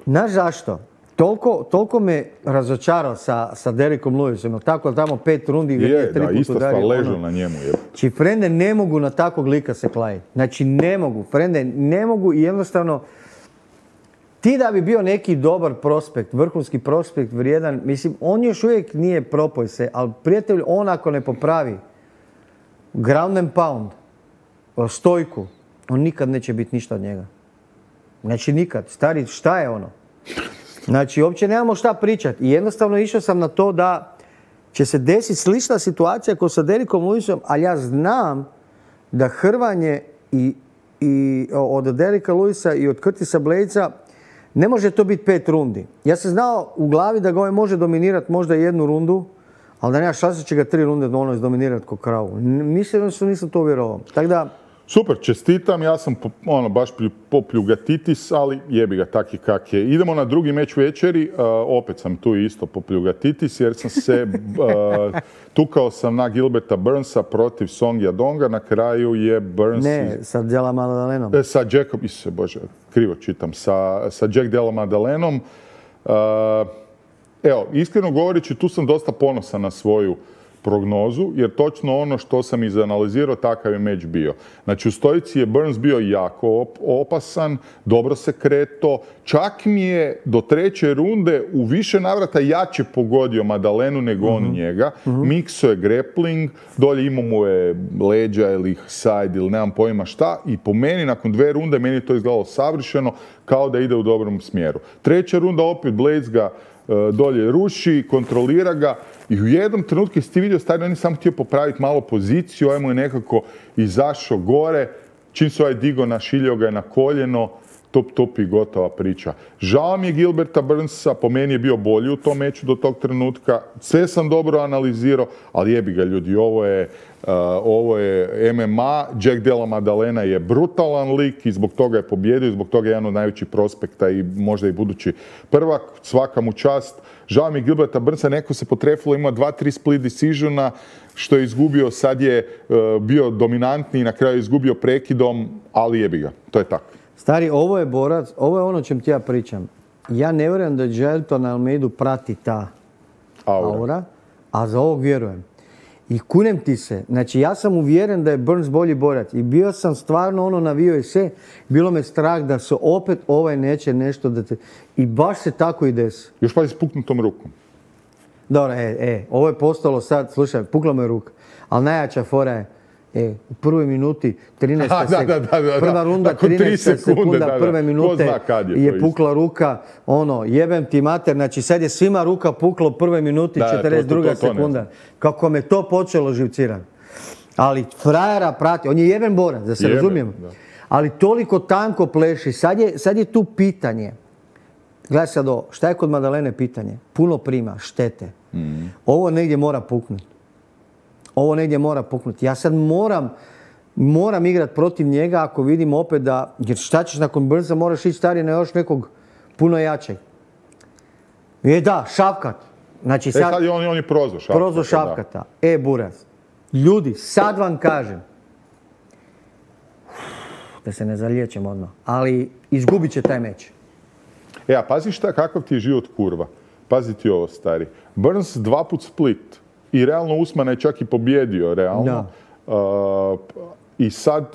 znaš zašto? Toliko, toliko me razočarao sa, sa Derekom Lewisom, tako tamo pet rundi gdje je tri puta udario. ležao na njemu. Je. Znači, frende ne mogu na takvog lika se kladiti. Znači, ne mogu. Frende ne mogu i jednostavno, ti da bi bio neki dobar prospekt, vrhunski prospekt, vrijedan, mislim, on još uvijek nije propoj se, ali prijatelj, on ako ne popravi ground and pound, stojku, on nikad neće biti ništa od njega. Znači nikad. Stari, šta je ono? Znači, uopće nemamo šta pričati. I jednostavno išao sam na to da će se desiti slična situacija kao sa Derekom Lewisom, ali ja znam da hrvanje i, i od Dereka Lewisa i od Curtisa Bladesa ne može to biti pet rundi. Ja sam znao u glavi da ga ovaj može dominirati možda jednu rundu, ali da nema šanse će ga tri runde ono izdominirati ko kravu. Mislim da nisam to uvjerovao. Tako da, super, čestitam, ja sam ono, baš popljugatitis, ali jebi ga taki kak je. Idemo na drugi meč večeri, uh, opet sam tu isto popljugatitis jer sam se, uh, tukao sam na Gilberta Burnsa protiv Song Yadonga, na kraju je Burns... Ne, iz... sa Della Maddalenom. E, sa Jackom, isuse Bože, krivo čitam, sa, sa Jack Della Maddalenom. Uh, evo, iskreno govoreći, tu sam dosta ponosan na svoju prognozu, jer točno ono što sam izanalizirao, takav je meč bio. Znači, u stojici je Burns bio jako op- opasan, dobro se kreto, čak mi je do treće runde u više navrata jače pogodio Maddalenu nego on mm-hmm. njega. Mm-hmm. Mikso je grappling, dolje imao mu je leđa ili side ili nemam pojma šta, i po meni, nakon dve runde, meni je to izgledalo savršeno, kao da ide u dobrom smjeru. Treća runda opet Blades ga dolje ruši, kontrolira ga i u jednom trenutku si ti vidio, stari, on je samo htio popraviti malo poziciju, ovaj mu je nekako izašao gore, čim se ovaj digo našiljio ga je na koljeno, top, top i gotova priča. Žao mi je Gilberta Burnsa, po meni je bio bolji u tom meču do tog trenutka, sve sam dobro analizirao, ali jebi ga ljudi, ovo je, uh, ovo je M M A, Jack Della Maddalena je brutalan lik i zbog toga je pobjedio i zbog toga je jedan od najvećih prospekta i možda i budući prvak, svaka mu čast. Žao mi je Gilberta Burnsa, neko se potrefilo, ima dva, tri split decisiona, što je izgubio, sad je uh, bio dominantni i na kraju je izgubio prekidom, ali jebi ga, to je tako. Stari, ovo je borac, ovo je ono o čem ti ja pričam. Ja ne vjerujem da Jailton Almeidu prati ta aura. aura, a za ovog vjerujem. I kunem ti se, znači ja sam uvjeren da je Burns bolji borac i bio sam stvarno ono navio i sve, bilo me strah da se opet ovaj neće nešto da te... I baš se tako i desi. Još pa si puknutom rukom. Dobro, e, e, ovo je postalo sad, slušaj, pukla me ruka, ali najjača fora je, E, u prvoj minuti, trinaesta sekunda, prva runda, trinaesta sekunda, da, da. prve minute je, je pukla ruka, ono, jebem ti mater, znači sad je svima ruka pukla u prvoj minuti, da, četrdeset druga to, to, to, sekunda. Kako me to počelo živcirati. Ali frajera prati, on je jeben borac, da se jeben, razumijemo. Da. Ali toliko tanko pleši, sad je, sad je tu pitanje. Gledaj sad ovo, šta je kod Maddalene pitanje? Puno prima, štete. Mm. Ovo negdje mora puknuti. Ovo negdje mora puknuti. Ja sad moram, moram igrati protiv njega ako vidim opet da, jer šta ćeš nakon Burnsa, moraš ići stari na još nekog puno jačeg. Je da, Šavkat. Znači sad, e sad je on, on je prozvo Šavkata. Prozvo Šavkata. E, Buraz. Ljudi, sad vam kažem, da se ne zaliječem odmah, ali izgubit će taj meč. E, a pazi šta, kakav ti je život kurva. Pazi ti ovo, stari. Burns dva put split. I realno Usmana je čak i pobjedio, realno. Uh, I sad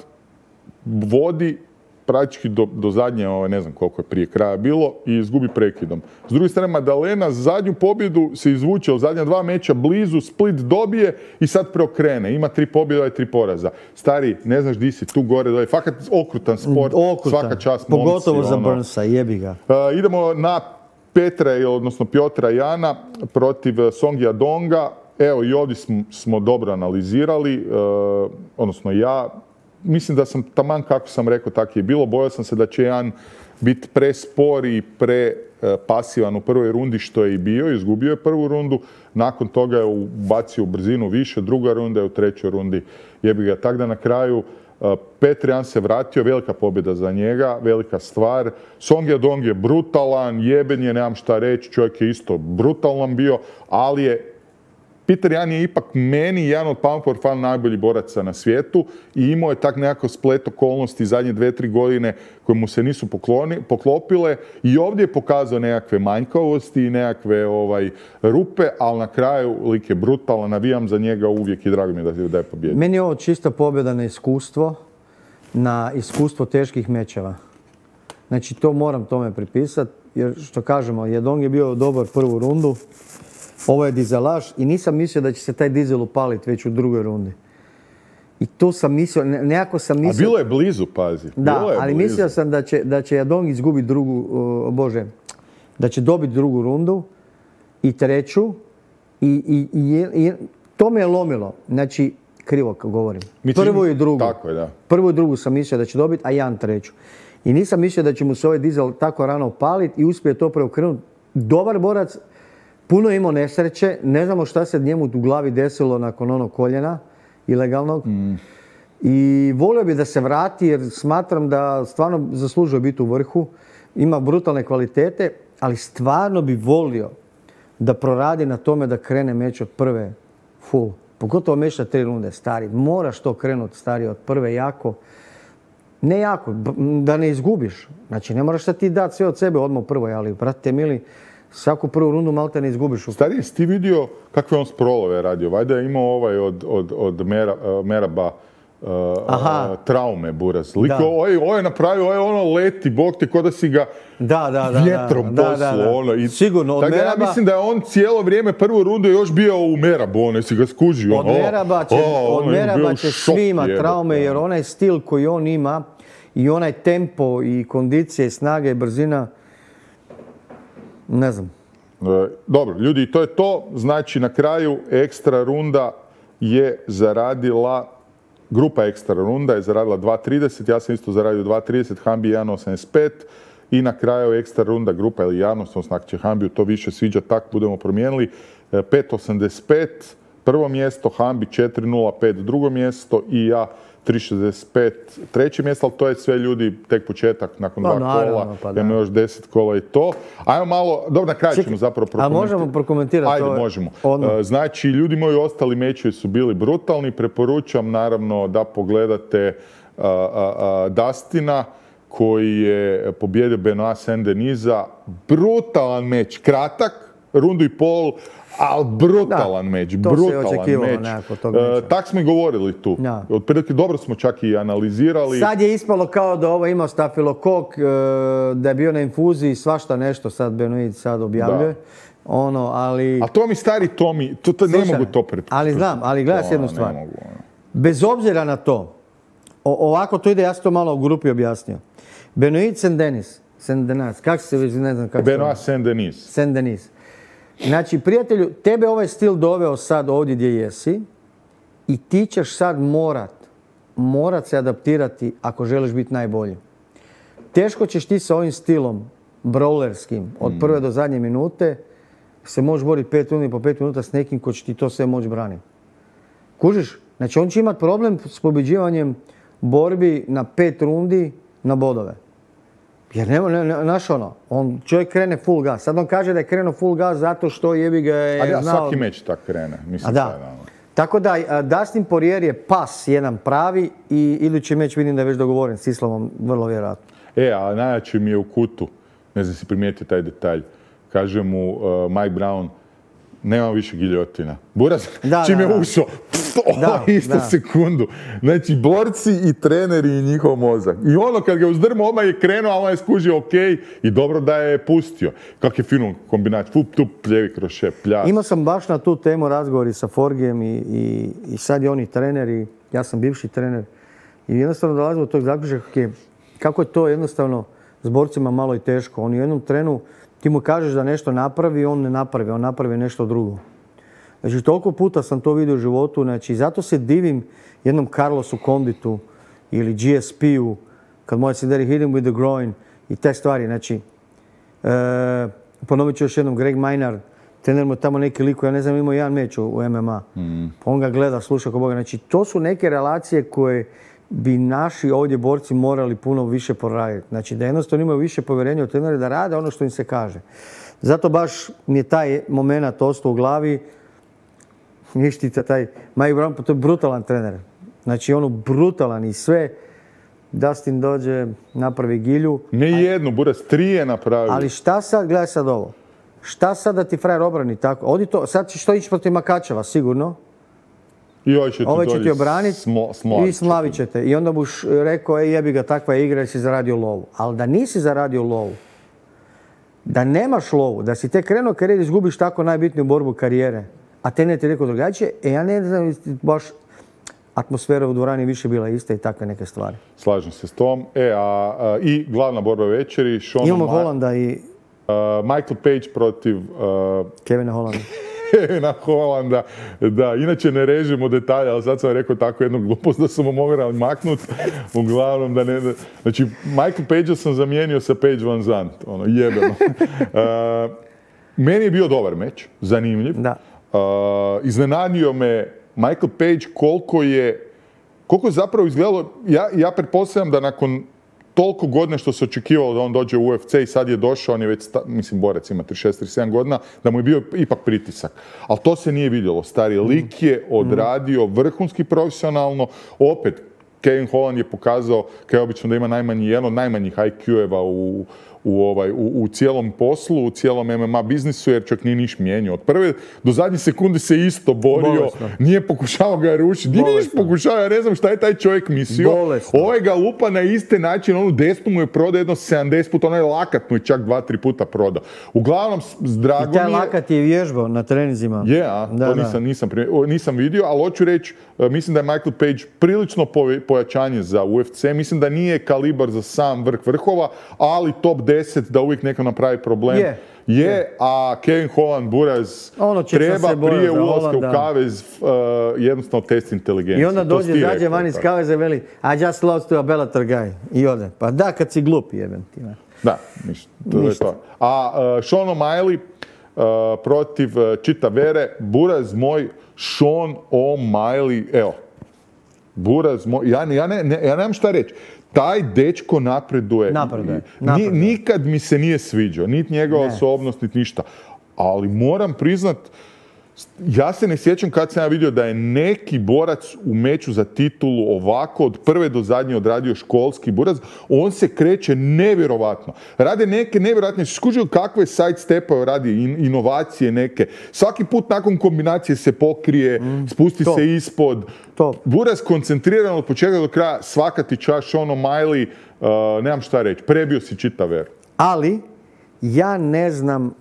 vodi praktički do, do zadnje, ne znam koliko je prije kraja bilo, i izgubi prekidom. S druge strane, Madalena zadnju pobjedu se izvuče u zadnja dva meča blizu, Split dobije i sad preokrene. Ima tri pobjede i tri poraza. Stari, ne znaš di si, tu gore, dole. Fakat okrutan sport, okrutan. Svaka čast momci. Pogotovo za ono. Burnsa, jebi ga. Uh, idemo na Petra, odnosno Piotra Jana protiv Songija Donga. Evo, i ovdje smo, smo dobro analizirali, uh, odnosno ja. Mislim da sam taman kako sam rekao tako je bilo. Bojao sam se da će Jan biti prespor i prepasivan u prvoj rundi, što je i bio. Izgubio je prvu rundu, nakon toga je ubacio u brzinu više, druga runda je u trećoj rundi jebi ga. Tako da na kraju Petr Jan se vratio, velika pobjeda za njega, velika stvar. Song Yadong je brutalan, jeben je, nemam šta reći, čovjek je isto brutalan bio, ali je Peter Jan je ipak meni jedan od Pound for Fun najboljih boraca na svijetu i imao je tak nekako splet okolnosti zadnje dve, tri godine koje mu se nisu pokloni, poklopile i ovdje je pokazao nekakve manjkavosti i nekakve ovaj, rupe, ali na kraju lik je brutalan, navijam za njega uvijek i drago mi je da, da je pobjedio. Meni je ovo čista pobjeda na iskustvo, na iskustvo teških mečeva. Znači to moram tome pripisati, jer što kažemo, Yadong je bio dobar prvu rundu. Ovo je dizelaš i nisam mislio da će se taj dizel upaliti već u drugoj rundi. I tu sam mislio, nekako sam mislio... A bilo je blizu, pazi. Da, bilo je ali blizu. Mislio sam da će, da će Yadong izgubiti drugu, uh, bože, da će dobiti drugu rundu i treću i, i, i, i to me je lomilo. Znači, krivo govorim. Mislim, prvu i drugu. Tako je, da. Prvu i drugu sam mislio da će dobiti, a Jan treću. I nisam mislio da će mu se ovaj dizel tako rano upaliti i uspije to preokrenuti. Dobar borac, puno imao nesreće, ne znamo šta se njemu u glavi desilo nakon onog koljena ilegalnog. Mm. I volio bi da se vrati jer smatram da stvarno zaslužuje biti u vrhu. Ima brutalne kvalitete, ali stvarno bi volio da proradi na tome da krene meč od prve full. Pogotovo meč na tri runde, stari. Moraš to krenuti, stari, od prve jako. Ne jako, da ne izgubiš. Znači, ne moraš da ti dati sve od sebe odmah u prvoj, ali, brate mili, svaku prvu rundu malo te ne izgubiš. Stari, jesi ti vidio kakve on sprolove radio? Vajda je imao ovaj od, od, od Mera, uh, Meraba uh, uh, traume, buraz. Liko, ovo, ovo je napravio, ovo je ono leti, bog te, ko da si ga da, da, da, vjetrom da, poslo. da, da. Ono. I, sigurno, od Meraba... Ja mislim da je on cijelo vrijeme prvu rundu još bio u Merabu, ono, jesi ga skužio. Od Meraba će, oh, od Meraba će svi ima traume, jer onaj stil koji on ima i onaj tempo i kondicije, snage i brzina, ne znam. Dobro, ljudi, to je to. Znači, na kraju ekstra runda je zaradila, grupa ekstra runda je zaradila dva trideset, ja sam isto zaradio dva trideset, Hambi jedan osamdeset pet i na kraju ekstra runda grupa ili javnost, odnosno ako će Hambiju to više sviđa, tak budemo promijenili, pet osamdeset pet, prvo mjesto, Hambi četiri nula pet, drugo mjesto i ja tri šezdeset pet, treće mjesto, ali to je sve, ljudi, tek početak, nakon pa, dva naravno, kola, pa, imamo još deset kola i to. Ajmo malo, dobro, na kraju ćemo zapravo prokomentirati. A možemo prokomentirati? Ajde, to možemo. Odmah. Znači, ljudi moji, ostali mečevi su bili brutalni, preporučam naravno da pogledate uh, uh, uh, Dustina, koji je pobjedio Benoit Saint-Denis. Brutalan meč, kratak, rundu i pol, ali brutalan da, meč, brutalan meč. Uh, tak smo i govorili tu. Da. Otprilike dobro smo čak i analizirali. Sad je ispalo kao da ovo imao stafilokok, uh, da je bio na infuziji, svašta nešto sad Benoit sad objavljuje. Da. Ono, ali... A to mi stari, to mi, to, to ne mogu to pretpostaviti. Ali znam, ali gledaj s jednu stvar. Mogu, bez obzira na to, o, ovako to ide, ja sam to malo u grupi objasnio. Benoit Saint-Denis, Saint-Denis, kako se već, ne znam kako se... Benoit Saint-Denis. Saint-Denis. Znači, prijatelju, tebe ovaj stil doveo sad ovdje gdje jesi i ti ćeš sad morat, morat se adaptirati ako želiš biti najbolji. Teško ćeš ti sa ovim stilom, brawlerskim, od prve do zadnje minute, se možeš boriti pet rundi po pet minuta s nekim ko će ti to sve moći braniti. Kužiš? Znači, on će imati problem s pobjeđivanjem borbi na pet rundi na bodove. Jer nema, ne, ne, znaš ono, on, čovjek krene full gas. Sad on kaže da je krenuo full gas zato što jebi ga je Ali ja, znao... svaki meč tak krene. Mislim, A da. Sada, tako da, Dustin Poirier je pas jedan pravi i idući meč vidim da je već dogovoren s Islamom, vrlo vjerojatno. E, a najjači mi je u kutu, ne znam si primijetio taj detalj, kaže mu uh, Mike Brown, nema više giljotina. Buraz, da, čim da, je da. ušao, ovo isto da. sekundu. Znači, borci i treneri i njihov mozak. I ono, kad ga uzdrmo, odmah je krenuo, a on je skužio ok i dobro da je pustio. Kak je fino kombinaciju, fup, tup, pljevi kroz šep, pljas. Imao sam baš na tu temu razgovori sa Forgijem i, i, i sad je oni treneri, ja sam bivši trener. I jednostavno dolazimo do tog zaključka kako je to jednostavno s borcima malo i teško. On u jednom trenu, ti mu kažeš da nešto napravi, on ne napravi, on napravi nešto drugo. Znači, toliko puta sam to vidio u životu, znači, zato se divim jednom Carlosu Conditu ili G S P-u, kad može se deri hit him with the groin i te stvari, znači, e, ponovit ću još jednom, Greg Maynard, trener mu tamo neki liko, ja ne znam, imao jedan meč u M M A, mm. pa on ga gleda, sluša ko Boga, znači, to su neke relacije koje bi naši ovdje borci morali puno više poraditi. Znači, da jednostavno imaju više povjerenja u trenere, da rade ono što im se kaže. Zato baš mi je taj moment ostao u glavi. Ništica, taj Mike Brown, to je brutalan trener. Znači, ono brutalan i sve. Dustin dođe, napravi gilju. Ne jednu, Buraz, tri je napravio. Ali šta sad, gledaj sad ovo. Šta sad da ti frajer obrani tako? Odi to, sad ćeš to ići protiv Makačeva, sigurno. I ovaj će ti, ovaj će ti obraniti i smlavit ćete. I onda buš rekao, ej jebi ga, takva je igra jer si zaradio lovu. Ali da nisi zaradio lovu, da nemaš lovu, da si te krenuo karijer, izgubiš tako najbitniju borbu karijere, a te ne ti rekao drugačije, e ja ne znam, baš atmosfera u dvorani više bila ista i takve neke stvari. Slažem se s tom. E, a, a i glavna borba večeri, Sean Imamo Hollanda i... Uh, Michael Page protiv... Uh, Kevina Hollanda. Kevina Hollanda, da, inače ne režimo detalje, ali sad sam rekao tako jednu glupost da sam mu mogao maknuti, uglavnom da ne... Znači, Michael Page sam zamijenio sa Page Van Zandt, ono, jebeno. Uh, meni je bio dobar meč, zanimljiv. Da. Uh, iznenadio me Michael Page koliko je, koliko je zapravo izgledalo, ja, ja pretpostavljam da nakon toliko godina što se očekivalo da on dođe u U F C i sad je došao, on je već, sta, mislim, borac ima trideset šest trideset sedam godina, da mu je bio ipak pritisak. Ali to se nije vidjelo. Stari lik je odradio vrhunski profesionalno. Opet, Kevin Holland je pokazao, kao je obično, da ima najmanji, jedan od najmanjih I Q-eva u, u, ovaj, u, u cijelom poslu, u cijelom M M A biznisu, jer čak nije niš mijenio. Od prve do zadnje sekunde se isto borio, bolesno. Nije pokušao ga rušiti, nije niš pokušao, ja ne znam šta je taj čovjek mislio. Bolesno. Ovaj ga lupa na isti način, onu desnu mu je prodao jedno sedamdeset puta, onaj lakat mu je čak dva tri puta prodao. Uglavnom, drago mi je... I taj lakat je vježbao na treninzima. Je, a? Da, to nisam, nisam, nisam vidio, ali hoću reći, mislim da je Michael Page prilično pojačanje za U F C, mislim da nije kalibar za sam vrh vrhova, ali top deset da uvijek neko napravi problem. Je. Je, a Kevin Holland, Buraz, ono treba prije ulaska u kavez uh, jednostavno test inteligencije. I onda dođe, zađe van iz kaveza i veli I just lost to a Bellator guy. I ode. Pa da, kad si glup, jebem ti. Ne. Da, ništa. To ništa. Je to. A uh, Sean O'Malley uh, protiv uh, Chita Vere, Buraz moj, Sean O'Malley, evo, Buraz moj, ja, ja, ne, ne, ja nemam šta reći. Taj dečko napreduje. Napreduje. napreduje. Nikad mi se nije sviđao, niti njegova ne. osobnost, niti ništa. Ali moram priznat, ja se ne sjećam kad sam ja vidio da je neki borac u meču za titulu ovako od prve do zadnje odradio školski Buraz. On se kreće nevjerovatno. Rade neke nevjerojatne, skužio kakve side stepove radi, in, inovacije neke. Svaki put nakon kombinacije se pokrije, mm, spusti top. se ispod. Top. Buraz koncentriran od početka do kraja, svaka ti čast, Sean O'Malley, uh, nemam šta reći, prebio si čitav ver. Ali, ja ne znam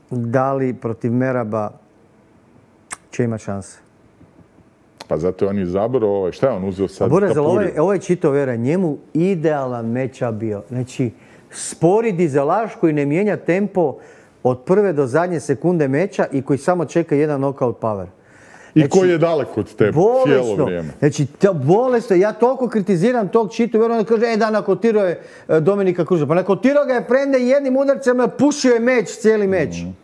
da li protiv Meraba će imati šanse. Pa zato je on izabrao ovaj, šta je on uzeo sad? Buraz, ovaj, ovaj Chito Vera, njemu idealan meča bio. Znači, spori dizelaš koji ne mijenja tempo od prve do zadnje sekunde meča i koji samo čeka jedan knockout power. I znači, koji je daleko od tebe cijelo vrijeme. Znači, to bolesno. Ja toliko kritiziram tog Chitu Vera, onda kaže, e da, nakotirao je Dominika Kruža. Pa nakotirao ga je prende jednim udarcem, pušio je meč, cijeli meč. Mm.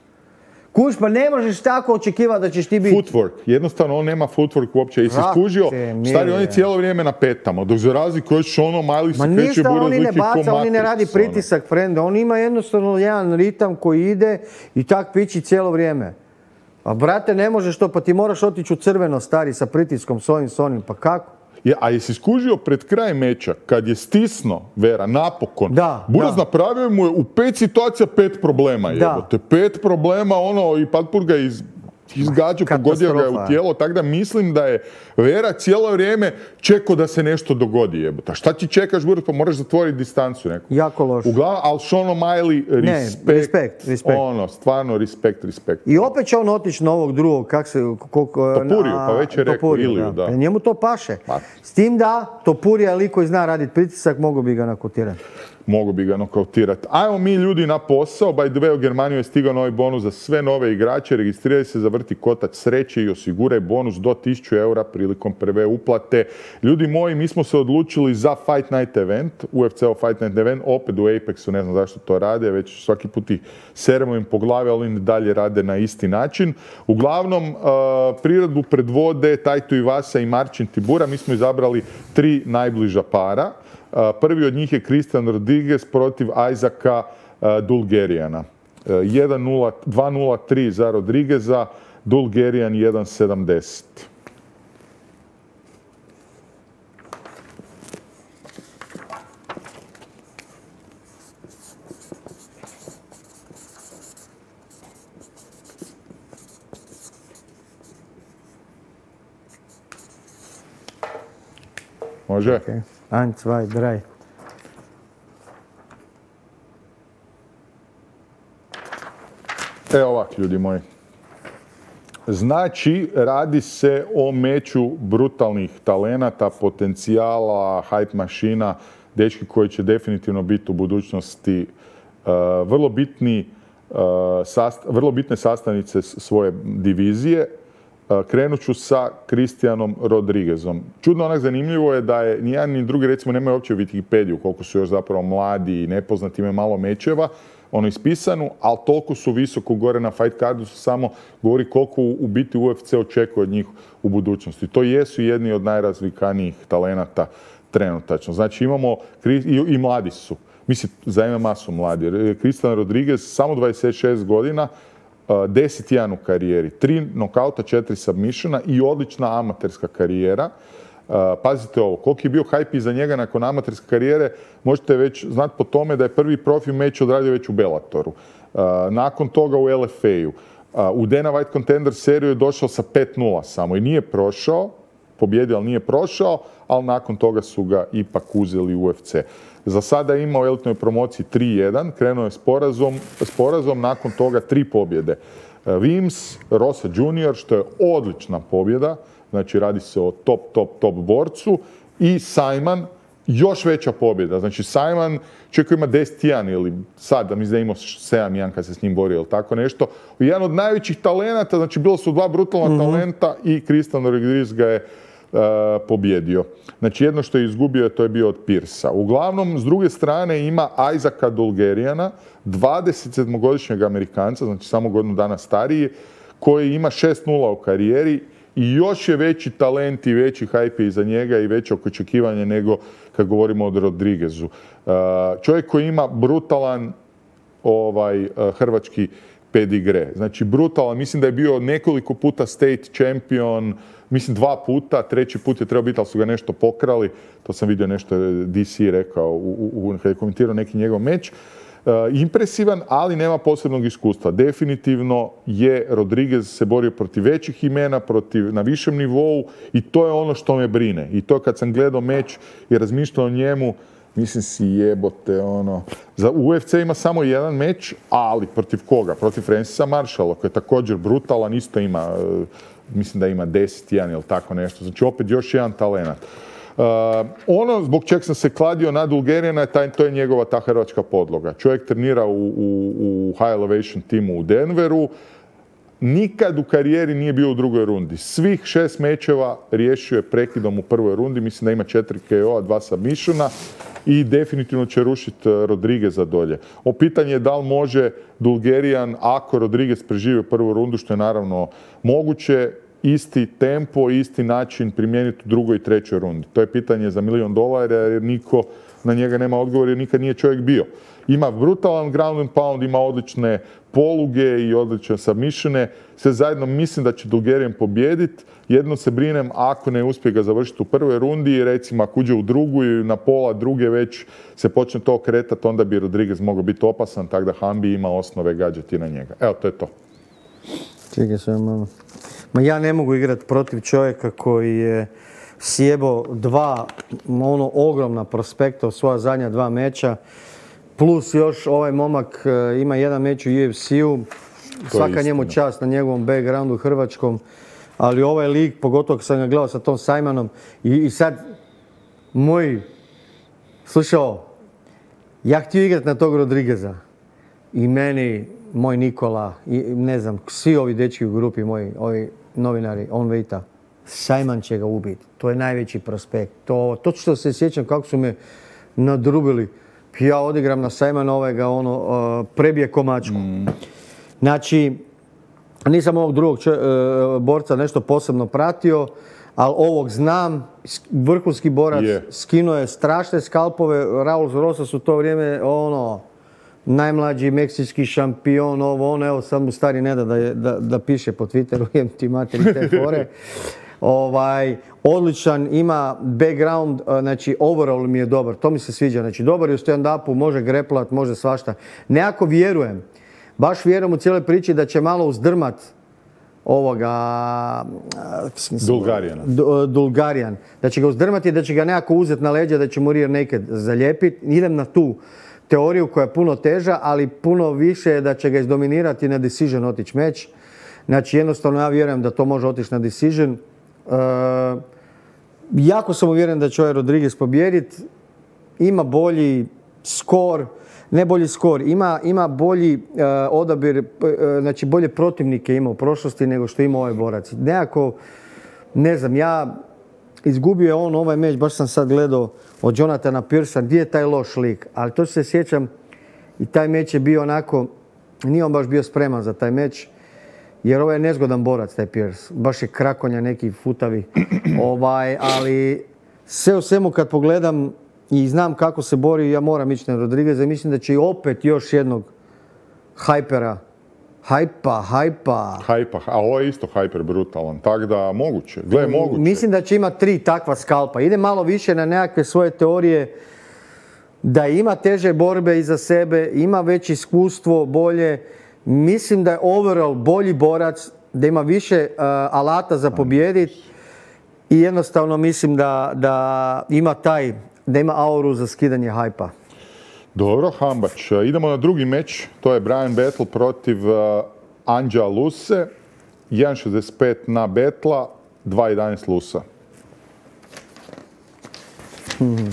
Kuš, pa ne možeš tako očekivati da ćeš ti biti... Footwork. Jednostavno, on nema footwork uopće. I se skužio, stari, on je cijelo vrijeme na petama. Dok za razliku od Sean O'Malley se kreće Buraz oni ne baca, oni ne radi pritisak, frende. On ima jednostavno jedan ritam koji ide i tak pići cijelo vrijeme. A brate, ne možeš to, pa ti moraš otići u crveno, stari, sa pritiskom, s ovim, s onim. Pa kako? Ja, a jesi skužio pred kraj meča, kad je stisno Vera, napokon, da, Buraz da. napravio mu je u pet situacija pet problema. Da. Jebote. Pet problema, ono, i Patpur ga iz... izgađao, pogodio ga je u tijelo, tako da mislim da je Vera cijelo vrijeme čekao da se nešto dogodi, jebota. Šta ti čekaš, Buras, pa moraš zatvoriti distancu neku. Jako loš. Uglavnom, ali Sean O'Malley, respekt, ne, respekt, respekt. Ono, stvarno, respekt, respekt. I opet će on otići na ovog drugog, kak se... Koliko, Topuriju, pa već je rekao, Iliju, da. da. Njemu to paše. Pa. S tim da, Topurija je lik koji zna raditi pritisak, mogu bi ga nakautirati. Mogu bi ga nokautirati. Ajmo mi ljudi na posao. By the way, u Germaniju je stigao novi bonus za sve nove igrače. Registriraj se za vrti kotač sreće i osiguraj bonus do tisuću eura prilikom prve uplate. Ljudi moji, mi smo se odlučili za Fight Night event, U F C-ov Fight Night event, opet u Apexu, ne znam zašto to rade, već svaki put ih seremo im po glavi, ali oni dalje rade na isti način. Uglavnom, uh, priredbu predvode Taito Iwasa i Marcin Tibura. Mi smo izabrali tri najbliža para. Prvi od njih je Christian Rodriguez protiv Isaaca Dulgerijana. dva nula tri za Rodrigueza, Dulgerijan jedan sedamdeset. Može? Okay. Ein, zwei, drei. Evo ovak, ljudi moji. Znači, radi se o meču brutalnih talenata, potencijala, hype mašina, dečki koji će definitivno biti u budućnosti uh, vrlo bitni, uh, sast, vrlo bitne sastavnice svoje divizije. Krenut ću sa Christianom Rodriguezom. Čudno onak zanimljivo je da je nijedan ni drugi, recimo, nemaju uopće Wikipediju, koliko su još zapravo mladi i nepoznati, imaju malo mečeva, ono ispisanu, ali toliko su visoko gore na fight cardu, su samo govori koliko u biti U F C očekuje od njih u budućnosti. To jesu jedni od najrazvikanijih talenata trenutačno. Znači imamo, i, i mladi su, mislim, za M M A su mladi. Christian Rodriguez, samo dvadeset šest godina, deset jedan u karijeri, tri nokauta, četiri submissiona i odlična amaterska karijera. Pazite ovo, koliki je bio hype iza njega nakon amaterske karijere, možete već znati po tome da je prvi profi meč odradio već u Bellatoru. Nakon toga u L F A-u. U Dana White Contender seriju je došao sa pet nula samo i nije prošao, pobjedio, ali nije prošao, ali nakon toga su ga ipak uzeli u U F C. Za sada je imao u elitnoj promociji tri jedan, krenuo je s porazom, s porazom, nakon toga tri pobjede. Vims, Rosa junior, što je odlična pobjeda, znači radi se o top, top, top borcu, i Simon, još veća pobjeda. Znači Simon, čovjek koji ima deset jedan ili sad, da mi da imao sedam jedan kad se s njim borio ili tako nešto. Jedan od najvećih talenata, znači bilo su dva brutalna mm-hmm. talenta i Christian Rodriguez ga je uh, pobjedio. Znači jedno što je izgubio, to je bio od Pirsa. Uglavnom, s druge strane ima Isaaca Dulgerijana, dvadesetsedmogodišnjeg Amerikanca, znači samo godinu dana stariji, koji ima šest nula u karijeri i još je veći talent i veći hype iza njega i veće očekivanje nego kad govorimo o Rodriguezu. Čovjek koji ima brutalan ovaj, hrvački pedigre. Znači brutalan, mislim da je bio nekoliko puta state champion, mislim dva puta, treći put je trebao biti, ali su ga nešto pokrali. To sam vidio nešto D C rekao u, u, kad je komentirao neki njegov meč. Uh, impresivan, ali nema posebnog iskustva. Definitivno je Rodriguez se borio protiv većih imena, protiv, na višem nivou i to je ono što me brine. I to kad sam gledao meč i razmišljao o njemu, mislim si jebote, ono... Za U F C ima samo jedan meč, ali protiv koga? Protiv Francisa Marshalla, koji je također brutalan, isto ima, uh, mislim da ima deset jedan ili tako nešto. Znači opet još jedan talenat. Uh, ono zbog čeg sam se kladio na Dulgerijana, to je njegova ta hrvačka podloga. Čovjek trenira u, u, u High Elevation timu u Denveru. Nikad u karijeri nije bio u drugoj rundi. Svih šest mečeva riješio je prekidom u prvoj rundi. Mislim da ima četiri K O-a, dva submissiona i definitivno će rušiti Rodrigueza dolje. O pitanje je da li može Dulgerijan, ako Rodriguez preživi prvu rundu, što je naravno moguće, isti tempo, isti način primijeniti u drugoj i trećoj rundi. To je pitanje za milijon dolara jer niko na njega nema odgovor jer nikad nije čovjek bio. Ima brutalan ground and pound, ima odlične poluge i odlične submissione. Sve zajedno mislim da će Dulgerijan pobijediti. Jedno se brinem ako ne uspije ga završiti u prvoj rundi i recimo ako uđe u drugu i na pola druge već se počne to kretati, onda bi Rodriguez mogao biti opasan, tako da Hambi ima osnove gađati na njega. Evo, to je to. Čekaj sve malo. Ma ja ne mogu igrati protiv čovjeka koji je sjebo dva ono ogromna prospekta u svoja zadnja dva meča. Plus još ovaj momak ima jedan meč u U F C-u. Svaka njemu čast na njegovom backgroundu hrvačkom. Ali ovaj lik, pogotovo kad sam ga gledao sa tom Sajmanom. I, i sad, moj, slušaj ovo, ja htio igrati na tog Rodrigueza. I meni, moj Nikola, i ne znam, svi ovi dečki u grupi moji, ovi novinari, on vejta, Sajman će ga ubiti. To je najveći prospekt. To, to što se sjećam kako su me nadrubili. Ja odigram na Sajmana ovega, ono, uh, prebije komačku. Mm. Znači, nisam ovog drugog če, uh, borca nešto posebno pratio, ali ovog znam, vrhunski borac, yeah. Skinuo je strašne skalpove, Raul Rosa su to vrijeme, ono, najmlađi meksički šampion, ovo, ono, evo sad mu stari ne da, da, da, da piše po Twitteru, jem ti materi te fore. Ovaj, odličan, ima background, znači overall mi je dobar, to mi se sviđa, znači dobar je u stand-upu, može greplat, može svašta. Nekako vjerujem, baš vjerujem u cijeloj priči da će malo uzdrmat ovoga... Dulgarijan. Dulgarijan. Da će ga uzdrmati, da će ga nekako uzeti na leđa, da će mu rear naked zalijepiti. Idem na tu teoriju koja je puno teža, ali puno više je da će ga izdominirati na decision otići meč. Znači jednostavno ja vjerujem da to može otići na decision. E, jako sam uvjeren da će ovaj Rodriguez pobijediti. Ima bolji skor, ne bolji skor, ima, ima bolji uh, odabir, uh, znači bolje protivnike ima u prošlosti nego što ima ovaj borac. Nekako, ne znam, ja izgubio je on ovaj meč, baš sam sad gledao od Jonathana Pearsa, gdje je taj loš lik, ali to se sjećam i taj meč je bio onako, nije on baš bio spreman za taj meč, jer ovaj je nezgodan borac, taj Pearce, baš je krakonja neki futavi, ovaj, ali sve u svemu kad pogledam i znam kako se bori, ja moram ići na Rodrigueza i mislim da će i opet još jednog hajpera, hajpa, hajpa. Hajpa, a ovo je isto hajper brutalan, tako da moguće, gle moguće. Mislim da će imati tri takva skalpa. Ide malo više na nekakve svoje teorije, da ima teže borbe iza sebe, ima već iskustvo, bolje. Mislim da je overall bolji borac, da ima više uh, alata za pobijediti i jednostavno mislim da, da ima taj da ima auru za skidanje hajpa. Dobro, Hambač. Idemo na drugi meč. To je Brian Battle protiv uh, Anđa Luse. jedan šezdeset pet na Betla, dva jedanaest Lusa. Hmm.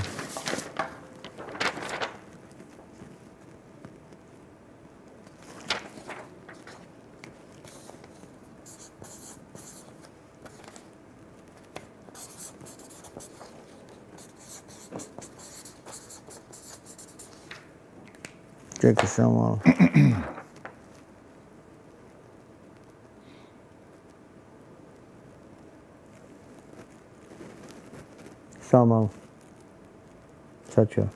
Čekaj samo malo. Samo malo. Sad ću ja.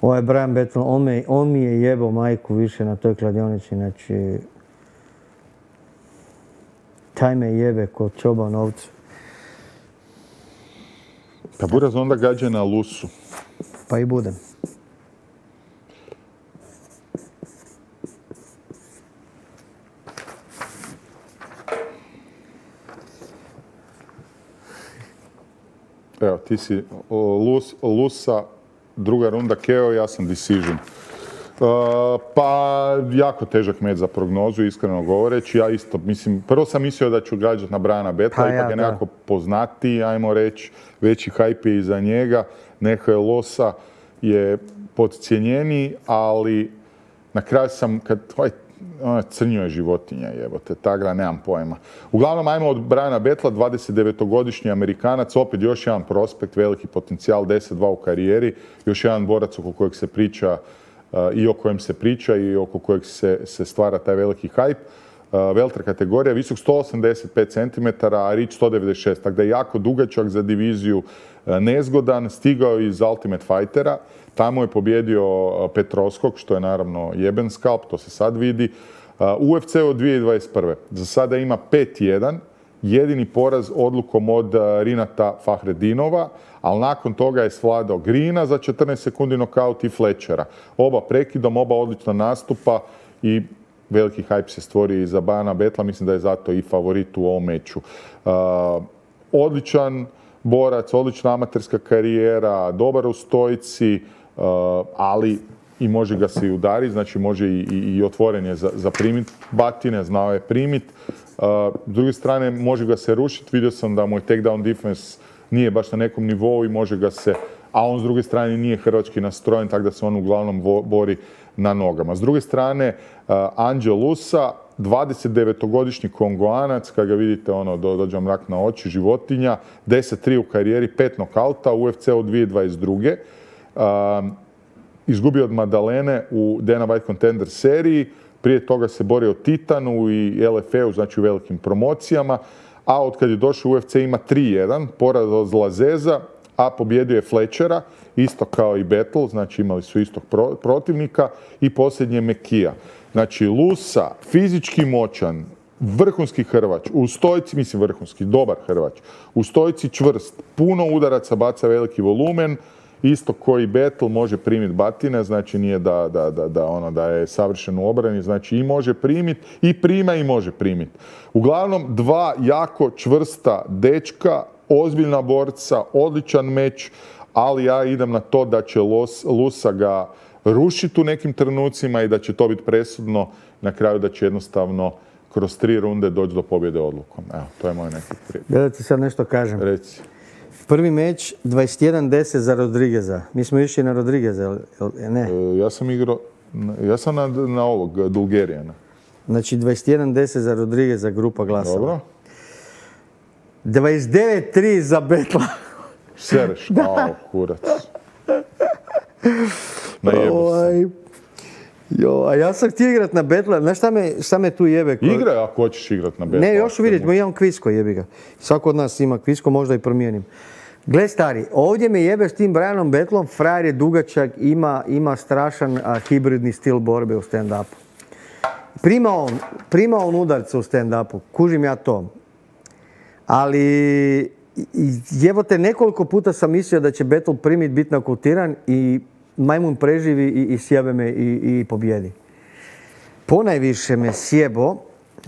Ovo je Brian Battle, on, me, on mi je jebao majku više na toj kladionici, znači... Taj me jebe ko čoban ovcu. Pa Buraz onda gađa na Lusu. Pa i budem. Evo, ti si Lus, Lusa, druga runda K O, ja sam decision. Uh, pa, jako težak meč za prognozu, iskreno govoreći. Ja isto, mislim, prvo sam mislio da ću gađati na Briana Battla, pa ipak ja, je nekako poznatiji, ajmo reći, veći hype je iza njega. Neko je Losa je podcijenjeniji, ali na kraju sam, kad, oj, crnio je životinja, jebote, tagra, nemam pojma. Uglavnom, ajmo od Briana Battla, dvadesetdevetogodišnji Amerikanac, opet još jedan prospekt, veliki potencijal, deset dva u karijeri, još jedan borac oko kojeg se priča uh, i o kojem se priča i oko kojeg se, se stvara taj veliki hype. Uh, Welter kategorija, visok sto osamdeset pet centimetara, a rič sto devedeset šest, tako da je jako dugačak za diviziju, uh, nezgodan, stigao iz Ultimate Fightera. Tamo je pobjedio Petrovskog, što je naravno jeben skalp, to se sad vidi. U F C od dvije tisuće dvadeset prve. Za sada ima pet jedan, jedini poraz odlukom od Rinata Fahredinova, ali nakon toga je svladao Greena za četrnaest sekundi nokaut i Fletchera. Oba prekidom, oba odlična nastupa i veliki hype se stvori i za Bana Betla, mislim da je zato i favorit u ovom meču. Uh, odličan borac, odlična amaterska karijera, dobar u stojci, uh, ali i može ga se i udariti, znači može i, i, i otvoren je za, za primit batine, znao je primit. Uh, s druge strane, može ga se rušiti, vidio sam da mu je takedown defense nije baš na nekom nivou i može ga se, a on s druge strane nije hrvački nastrojen, tako da se on uglavnom vo, bori na nogama. S druge strane, uh, Anđel Lusa, dvadesetdevetogodišnji Kongoanac, kad ga vidite, ono, do, dođe mrak na oči, životinja, deset tri u karijeri, pet nokauta, u U F C-u dvije tisuće dvadeset druge. Uh, izgubio od Madalene u Dana White Contender seriji, prije toga se borio o Titanu i L F E-u, znači u velikim promocijama, a od kad je došao u U F C ima tri jedan, poraz od Lazeza, a pobjedio je Fletchera, isto kao i Battle, znači imali su istog pro, protivnika, i posljednje Mekija. Znači Lusa, fizički moćan, vrhunski Hrvač, u stojci, mislim vrhunski, dobar Hrvač, u stojci čvrst, puno udaraca, baca veliki volumen, isto koji Battle može primiti batine, znači nije da, da, da, da, ono, da je savršen u obrani, znači i može primiti, i prima i može primiti. Uglavnom, dva jako čvrsta dečka, ozbiljna borca, odličan meč, ali ja idem na to da će Los, Lusa ga rušiti u nekim trenucima i da će to biti presudno, na kraju da će jednostavno kroz tri runde doći do pobjede odlukom. Evo, to je moj neki prijatelj. Da ti sad nešto kažem. Reci. Prvi meč dvadeset jedan deset za Rodrigueza. Mi smo išli na Rodrigueza, ne? E, ja sam igrao, ja sam na, na ovog, Dulgerijana. Znači dvadeset jedan deset za Rodrigueza, grupa glasova. Dobro. dvadeset devet tri za Betla. Sereš, kao kurac. Najebu se. Jo, a ja sam htio igrat na Betla. Znaš šta me, šta me tu jebe? Igraj ako hoćeš igrat na Betla. Ne, još vidjet, imam kvisko, jebi ga. Svako od nas ima kvisko, možda i promijenim. Gle stari, ovdje me jebe s tim Brianom Betlom, frajer je dugačak, ima, ima strašan a, hibridni stil borbe u stand-upu. Prima on, prima on udarce u stand-upu, kužim ja to. Ali jebote, nekoliko puta sam mislio da će Betl primit biti nokutiran i majmun preživi i, i sjebe me i, i pobjedi. Ponajviše me sjebo.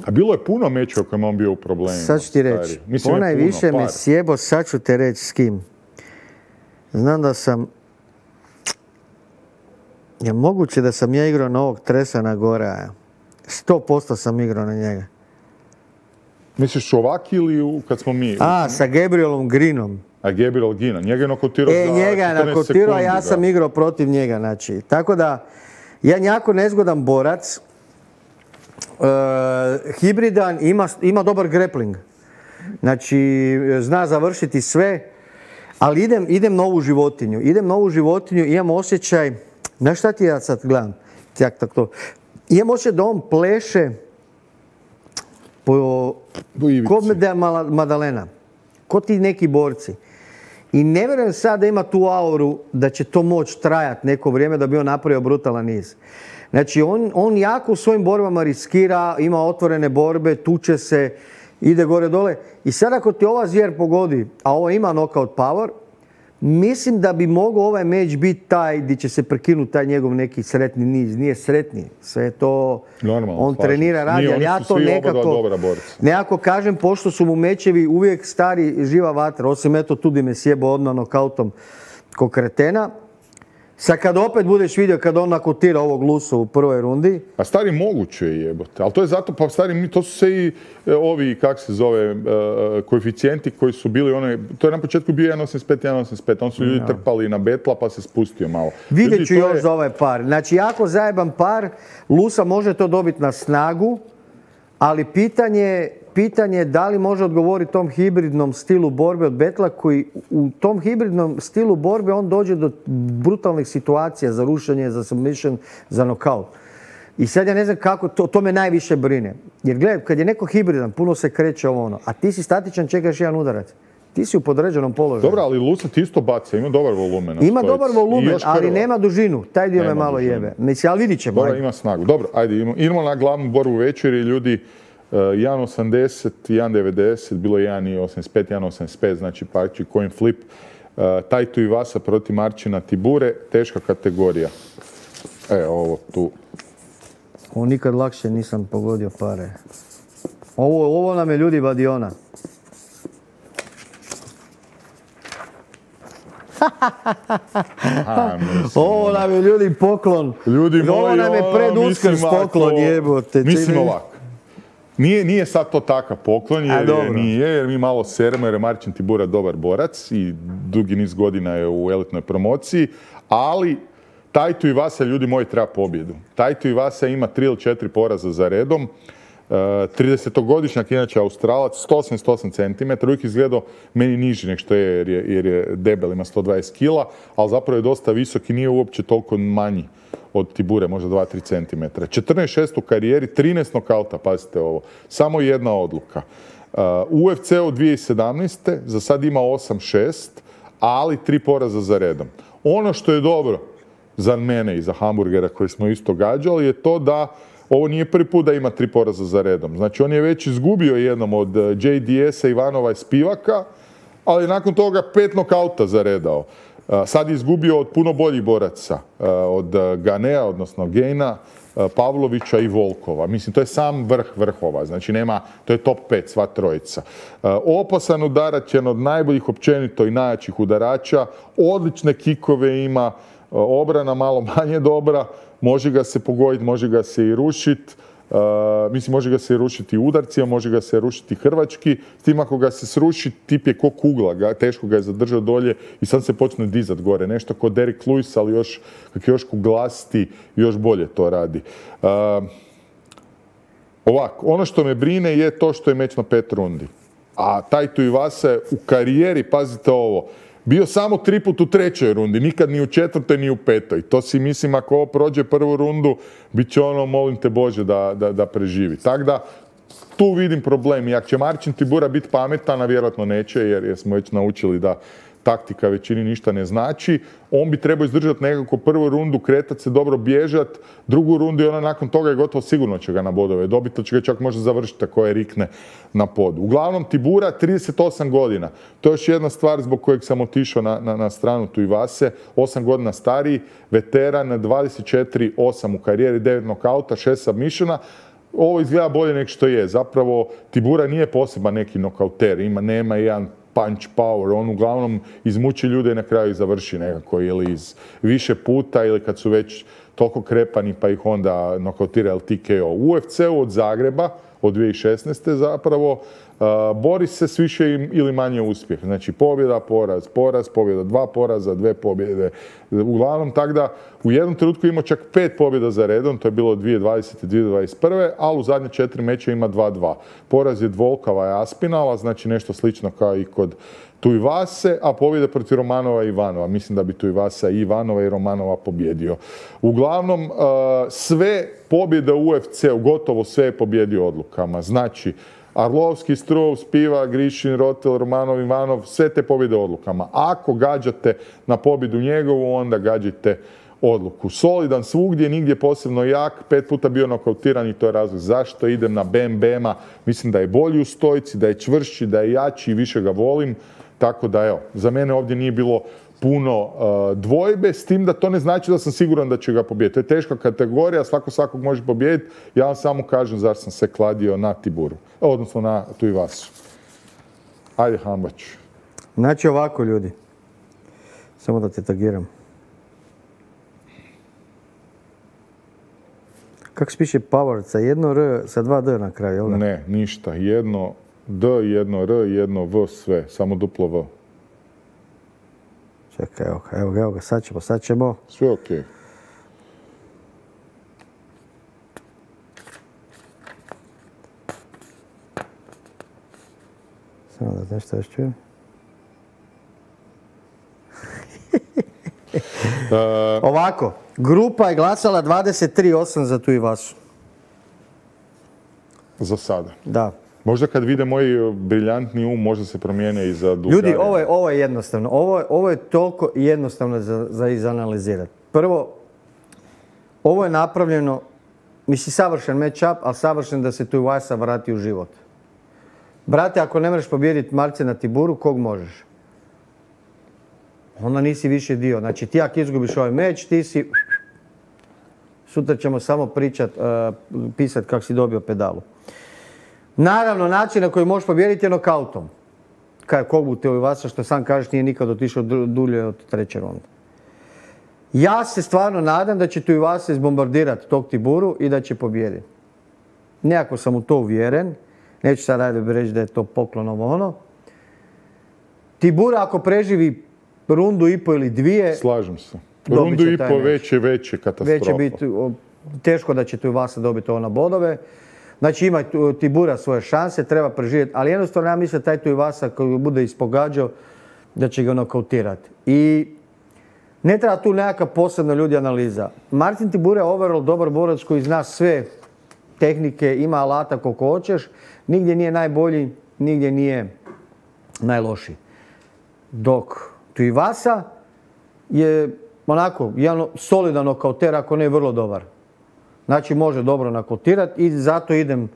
A bilo je puno mečeva u kojima on bio u problemima. Sad ću ti reći. Ponajviše me sjebo, sad ću te reći s kim. Znam da sam... Je moguće da sam ja igrao na ovog Tresana Gora. Sto posto sam igrao na njega. Misliš ovaki ili kad smo mi? A, sa Gabrielom Greenom. A Gabriel Green, njega je nokotirao e, za njega je nokotirao, a ja sam igrao protiv njega. Znači. Tako da, ja jako nezgodan borac, uh, hibridan, ima, ima dobar grappling. Znači, zna završiti sve, ali idem, idem na ovu životinju. Idem na ovu životinju, imam osjećaj, znaš šta ti ja sad gledam? Jak, tak to. Imam osjećaj da on pleše po, ko da je Madalena, ko ti neki borci. I ne vjerujem sad da ima tu auru da će to moći trajati neko vrijeme da bi on napravio brutalan niz. Znači, on, on jako u svojim borbama riskira, ima otvorene borbe, tuče se, ide gore dole. I sad ako ti ova zvijer pogodi, a ovo ima knockout power, mislim da bi mogao ovaj meč biti taj gdje će se prekinuti taj njegov neki sretni niz. Nije sretni, sve je to, normalno, on slažem. trenira, radi, ali ja to nekako, nekako kažem, pošto su mu mečevi uvijek stari živa vatra, osim eto tu di me sjebo odmah nokautom ko kretena. Sad kad opet budeš vidio kad on nakotira ovog Lusu u prvoj rundi. A stari moguće je jebote, ali to je zato, pa stari, to su se i ovi, kak se zove, uh, koeficijenti koji su bili, one, to je na početku bio jedan osamdeset pet jedan osamdeset pet, on su ljudi no. trpali na Betla pa se spustio malo. Vidjet ću još je... za ovaj par. Znači, jako zajeban par, Lusa može to dobiti na snagu, ali pitanje, pitanje je da li može odgovoriti tom hibridnom stilu borbe od Betla, koji u tom hibridnom stilu borbe on dođe do brutalnih situacija za rušenje, za submission, za nokaut. I sad ja ne znam kako, to, to me najviše brine. Jer gledaj, kad je neko hibridan, puno se kreće ovo ono, a ti si statičan, čekaš jedan udarac. Ti si u podređenom položaju. Dobro, ali Lusa ti isto baca, ima dobar volumen. Ima dobar volumen, ali nema dužinu. Taj dio nema me malo dužinu. Jebe. Mislim, ali vidit ćemo. Dobro, ima snagu. Dobro, ajde, idemo na glavnu borbu večeri, ljudi. Uh, jedan osamdeset, jedan devedeset, bilo je jedan osamdeset pet, jedan osamdeset pet, znači pači coin flip. Uh, Taito Iwasa protiv Marcina Tibure, teška kategorija. E, ovo tu. Ovo nikad lakše nisam pogodio pare. Ovo, ovo nam je ljudi vadiona. A, ovo nam je ljudi poklon. Ljudi moji, ovo nam je pred Uskrs poklon, jebote. Mislim ovako. Nije, nije sad to takav poklon, jer A, je, nije, jer mi malo seremo, jer je Marcin Tibura dobar borac i dugi niz godina je u elitnoj promociji, ali Taito Iwasa, ljudi moji, treba pobjedu. Taito Iwasa ima tri ili četiri poraza za redom. tridesetogodišnjak, inače Australac, sto osamdeset osam centimetara, uvijek izgledao meni niži nek što je jer, je, jer je debel, ima sto dvadeset kila, ali zapravo je dosta visok i nije uopće toliko manji od Tibure, možda dva do tri centimetra. četrnaest šest u karijeri, trinaest nokauta, pazite ovo, samo jedna odluka. Uh, U F C u dvije tisuće sedamnaeste. za sad ima osam šest, ali tri poraza za redom. Ono što je dobro za mene i za hamburgera koji smo isto gađali je to da ovo nije prvi put da ima tri poraza za redom. Znači, on je već izgubio jednom od J D S-a, Ivanova i Spivaka, ali nakon toga pet nokauta zaredao. Sad je izgubio od puno boljih boraca, od Ganea, odnosno Gejna, Pavlovića i Volkova. Mislim, to je sam vrh vrhova, znači nema, to je top pet, sva trojica. Opasan udarač, jedan od najboljih općenito i najjačih udarača, odlične kikove ima, obrana malo manje dobra, može ga se pogoditi, može ga se i rušiti, uh, mislim može ga se i rušiti udarcima, može ga se rušiti hrvački, s tim ako ga se sruši, tip je ko kugla, ga, teško ga je zadržao dolje i sad se počne dizat gore, nešto kao Derek Lewis, ali još, kak je još kuglasti, još bolje to radi. Uh, ovako, ono što me brine je to što je meč na pet rundi, a Taito Iwasa je u karijeri, pazite ovo, bio samo tri put u trećoj rundi, nikad ni u četvrtoj ni u petoj. To si mislim, ako ovo prođe prvu rundu, bit će ono, molim te Bože, da, da, da preživi. Tako da, tu vidim problem. I ako će Marcin Tibura biti pametan, a vjerojatno neće, jer, jer smo već naučili da taktika većini ništa ne znači, on bi trebao izdržati nekako prvu rundu, kretat se, dobro bježat, drugu rundu i ona nakon toga je gotovo sigurno će ga na bodove dobiti, će ga čak možda završiti ako je rikne na podu. Uglavnom, Tibura, trideset osam godina. To je još jedna stvar zbog kojeg sam otišao na, na, na stranu tu Iwase, osam godina stariji, veteran, dvadeset četiri osam u karijeri, devet nokauta, šest submissiona. Ovo izgleda bolje nego što je. Zapravo, Tibura nije poseban neki nokauter, ima, nema jedan punch power, on uglavnom izmuči ljude i na kraju ih završi nekako ili iz više puta ili kad su već toliko krepani pa ih onda nokautira L T K O. U F C-u od Zagreba, od dvije tisuće šesnaeste. zapravo, uh, bori se s više ili manje uspjeh. Znači pobjeda, poraz, poraz, pobjeda, dva poraza, dve pobjede. Uglavnom, tako da u jednom trenutku ima čak pet pobjeda za redom, to je bilo dvije tisuće dvadesete. dvije tisuće dvadeset prve. ali u zadnje četiri meća ima dva dva. Poraz je Volkova i Aspinala, znači nešto slično kao i kod tu Iwase, a pobjede protiv Romanova i Ivanova. Mislim da bi tu Iwasa i Ivanova i Romanova pobjedio. Uglavnom, uh, sve pobjede u U F C-u, gotovo sve je pobjedio odlukama. Znači, Arlovski, Struov, Spivak, Grišin, Rotel, Romanov, Ivanov, sve te pobjede odlukama. Ako gađate na pobjedu njegovu, onda gađajte odluku. Solidan svugdje, nigdje posebno jak, pet puta bio nokautiran i to je razlog zašto idem na Bam Bama. Mislim da je bolji u stojci, da je čvršći, da je jači i više ga volim. Tako da, evo, za mene ovdje nije bilo puno uh, dvojbe, s tim da to ne znači da sam siguran da će ga pobijediti. To je teška kategorija, svako svakog može pobijediti. Ja vam samo kažem zašto sam se kladio na Tiburu, odnosno na tu Iwasu. Ajde, Hambać. Znači ovako, ljudi. Samo da te tagiram. Kako se piše Power? Sa jedno R, sa dva D na kraju, jel da? Ne, ništa. Jedno D, jedno R, jedno V, sve. Samo duplo V. Čekaj, evo ga, evo ga, evo ga, sad ćemo, sad ćemo. Sve okej. Samo da nešto još čujem. Ovako, grupa je glasala dvadeset tri osam za tu Iwasu. Za sada. Da. Možda kad vide moj briljantni um, možda se promijene i za Bulgariju. Ljudi, ovo je, ovo je jednostavno. Ovo, ovo je toliko jednostavno za, za izanalizirati. Prvo, ovo je napravljeno, mislim, savršen match-up, ali savršen da se tu Iwasa vrati u život. Brate, ako ne možeš pobijediti Marcina Tiburu, kog možeš? Onda nisi više dio. Znači, ti ako izgubiš ovaj meč, ti si Sutra ćemo samo pričat, uh, pisat kako si dobio pedalu. Naravno, način na koji možeš pobijediti je nokautom. Kaj Kogu Tuivasa, što sam kažeš, nije nikad otišao dulje od treće runde. Ja se stvarno nadam da će Tuivasa izbombardirati tog Tiburu i da će pobijediti. Nekako sam u to uvjeren. Neću sad raditi reći da je to poklon ovo ono. Tibura ako preživi rundu i po ili dvije... Slažem se. Rundu i po već je veće katastrofa. Već će biti teško da će Tuivasa dobiti ovo na bodove. Znači ima Tibura svoje šanse, treba preživjeti. Ali jednostavno ja mislim da taj Tuivasa koji bude ispogađao da će ga nokautirati. I ne treba tu nekakva posebna ljudi analiza. Martin Tibura je overall dobar borac koji zna sve tehnike, ima alata koliko hoćeš. Nigdje nije najbolji, nigdje nije najlošiji. Dok Tuivasa je onako jedan solidan nokauter, ako ne vrlo dobar. Znači može dobro nokautirati i zato idem.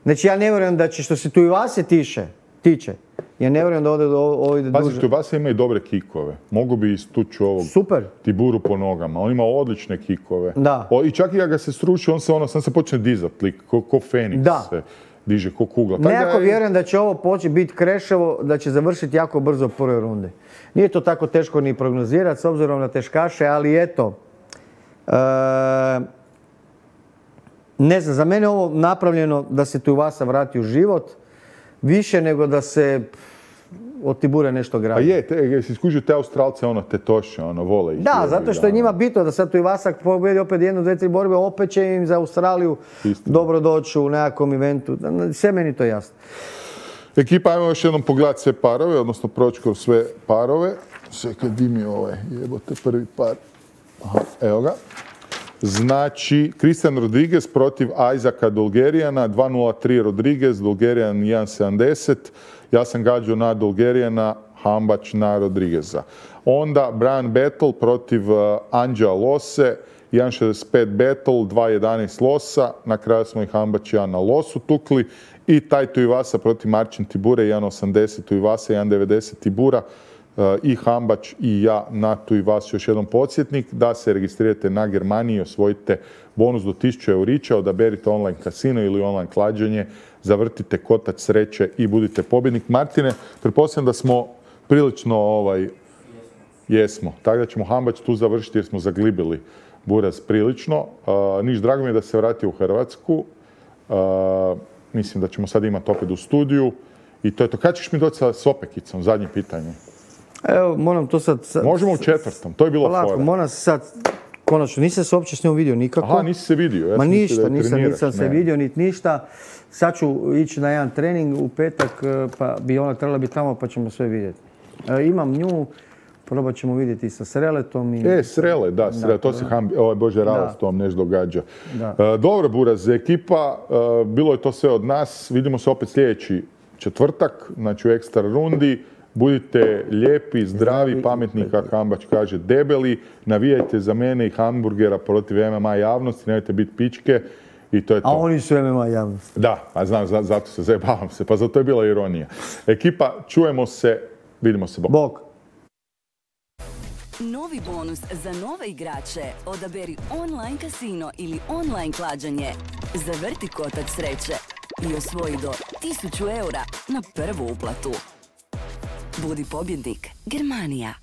Znači ja ne vjerujem da će, što se Tuivase tiče, tiče, ja ne vjerujem da ovdje ovo ide duže. Pazi, Tuivasa ima i dobre kikove. Mogu bi istući ovog Super. Tiburu po nogama. On ima odlične kikove. Da. O, I čak i kada ga se sruši, on se, ono, sam se počne dizat, lik, ko, ko Feniks da. se diže, ko kugla. Nekako vjerujem da će ovo početi biti kreševo, da će završiti jako brzo u prvoj rundi. Nije to tako teško ni prognozirati s obzirom na teškaše, ali eto. E, ne znam, za mene je ovo napravljeno da se Tuivasa vrati u život, više nego da se od Tibure nešto gradi. A je, te, jesi skužio te Australce, ono, te toše, ono, vole ih. Da, zato što je njima bitno da sad Tuivasa pobjedi opet jednu, dve, tri borbe, opet će im za Australiju Istina. dobro doći u nekakvom eventu. Sve meni to jasno. Ekipa, ajmo još jednom pogledati sve parove, odnosno proći kroz sve parove. Sve kad di mi ovaj, jebote, prvi par. Aha, evo ga. Znači, Christian Rodriguez protiv Isaaca Dolgerijana, dva nula tri Rodriguez, Dolgerijan jedan sedamdeset. Ja sam gađao na Dolgerijana, Hambač na Rodrigueza. Onda Brian Battle protiv uh, Anđela Lose, jedan šezdeset pet Battle, dva jedanaest Losa. Na kraju smo i Hambač i ja na Losu tukli. I taj Tuivasa protiv Marcin Tibure, jedan osamdeset Tuivasa, jedan devedeset Tibura. I Hambač i ja na Tuivasu. Još jedan podsjetnik da se registrirate na Germaniji i osvojite bonus do tisuću eurića, odaberite online kasino ili online klađenje, zavrtite kotač sreće i budite pobjednik. Martine, pretpostavljam da smo prilično ovaj, jesmo. Tako da ćemo Hambač tu završiti jer smo zaglibili buraz prilično. Uh, Niš, drago mi je da se vratio u Hrvatsku. Uh, mislim da ćemo sad imati opet u studiju. I to je to. Kad ćeš mi doći sa Sopekicom? Zadnje pitanje. Evo, moram to sad... sad Možemo u četvrtom, to je bilo fora. Polako, moram se sad... Konačno, nisam se uopće s njom vidio nikako. Aha, nisi se vidio. Ja Ma ništa, da nisam, nisam se vidio, niti ništa. Sad ću ići na jedan trening u petak, pa bi ona trebala biti tamo, pa ćemo sve vidjeti. E, imam nju, probat ćemo vidjeti sa Sreletom. I... E, Srele, da, Srele, da, to se hambi, ovaj Bože Rala s tom nešto događa. E, dobro, Buraz, ekipa, e, bilo je to sve od nas. Vidimo se opet sljedeći četvrtak, znači u ekstra rundi. Budite lijepi, zdravi, pametni, kako Hambač kaže, debeli. Navijajte za mene i hamburgera protiv em em a javnosti, nemojte biti pičke i to je to. A oni su em em a javnosti. Da, a znam, zato se zajebavam se, pa zato je bila ironija. Ekipa, čujemo se, vidimo se, bok. Bok. Novi bonus za nove igrače. Odaberi online kasino ili online klađenje. Zavrti kotač sreće i osvoji do tisuću eura na prvu uplatu. Budi pobjednik, Germanija.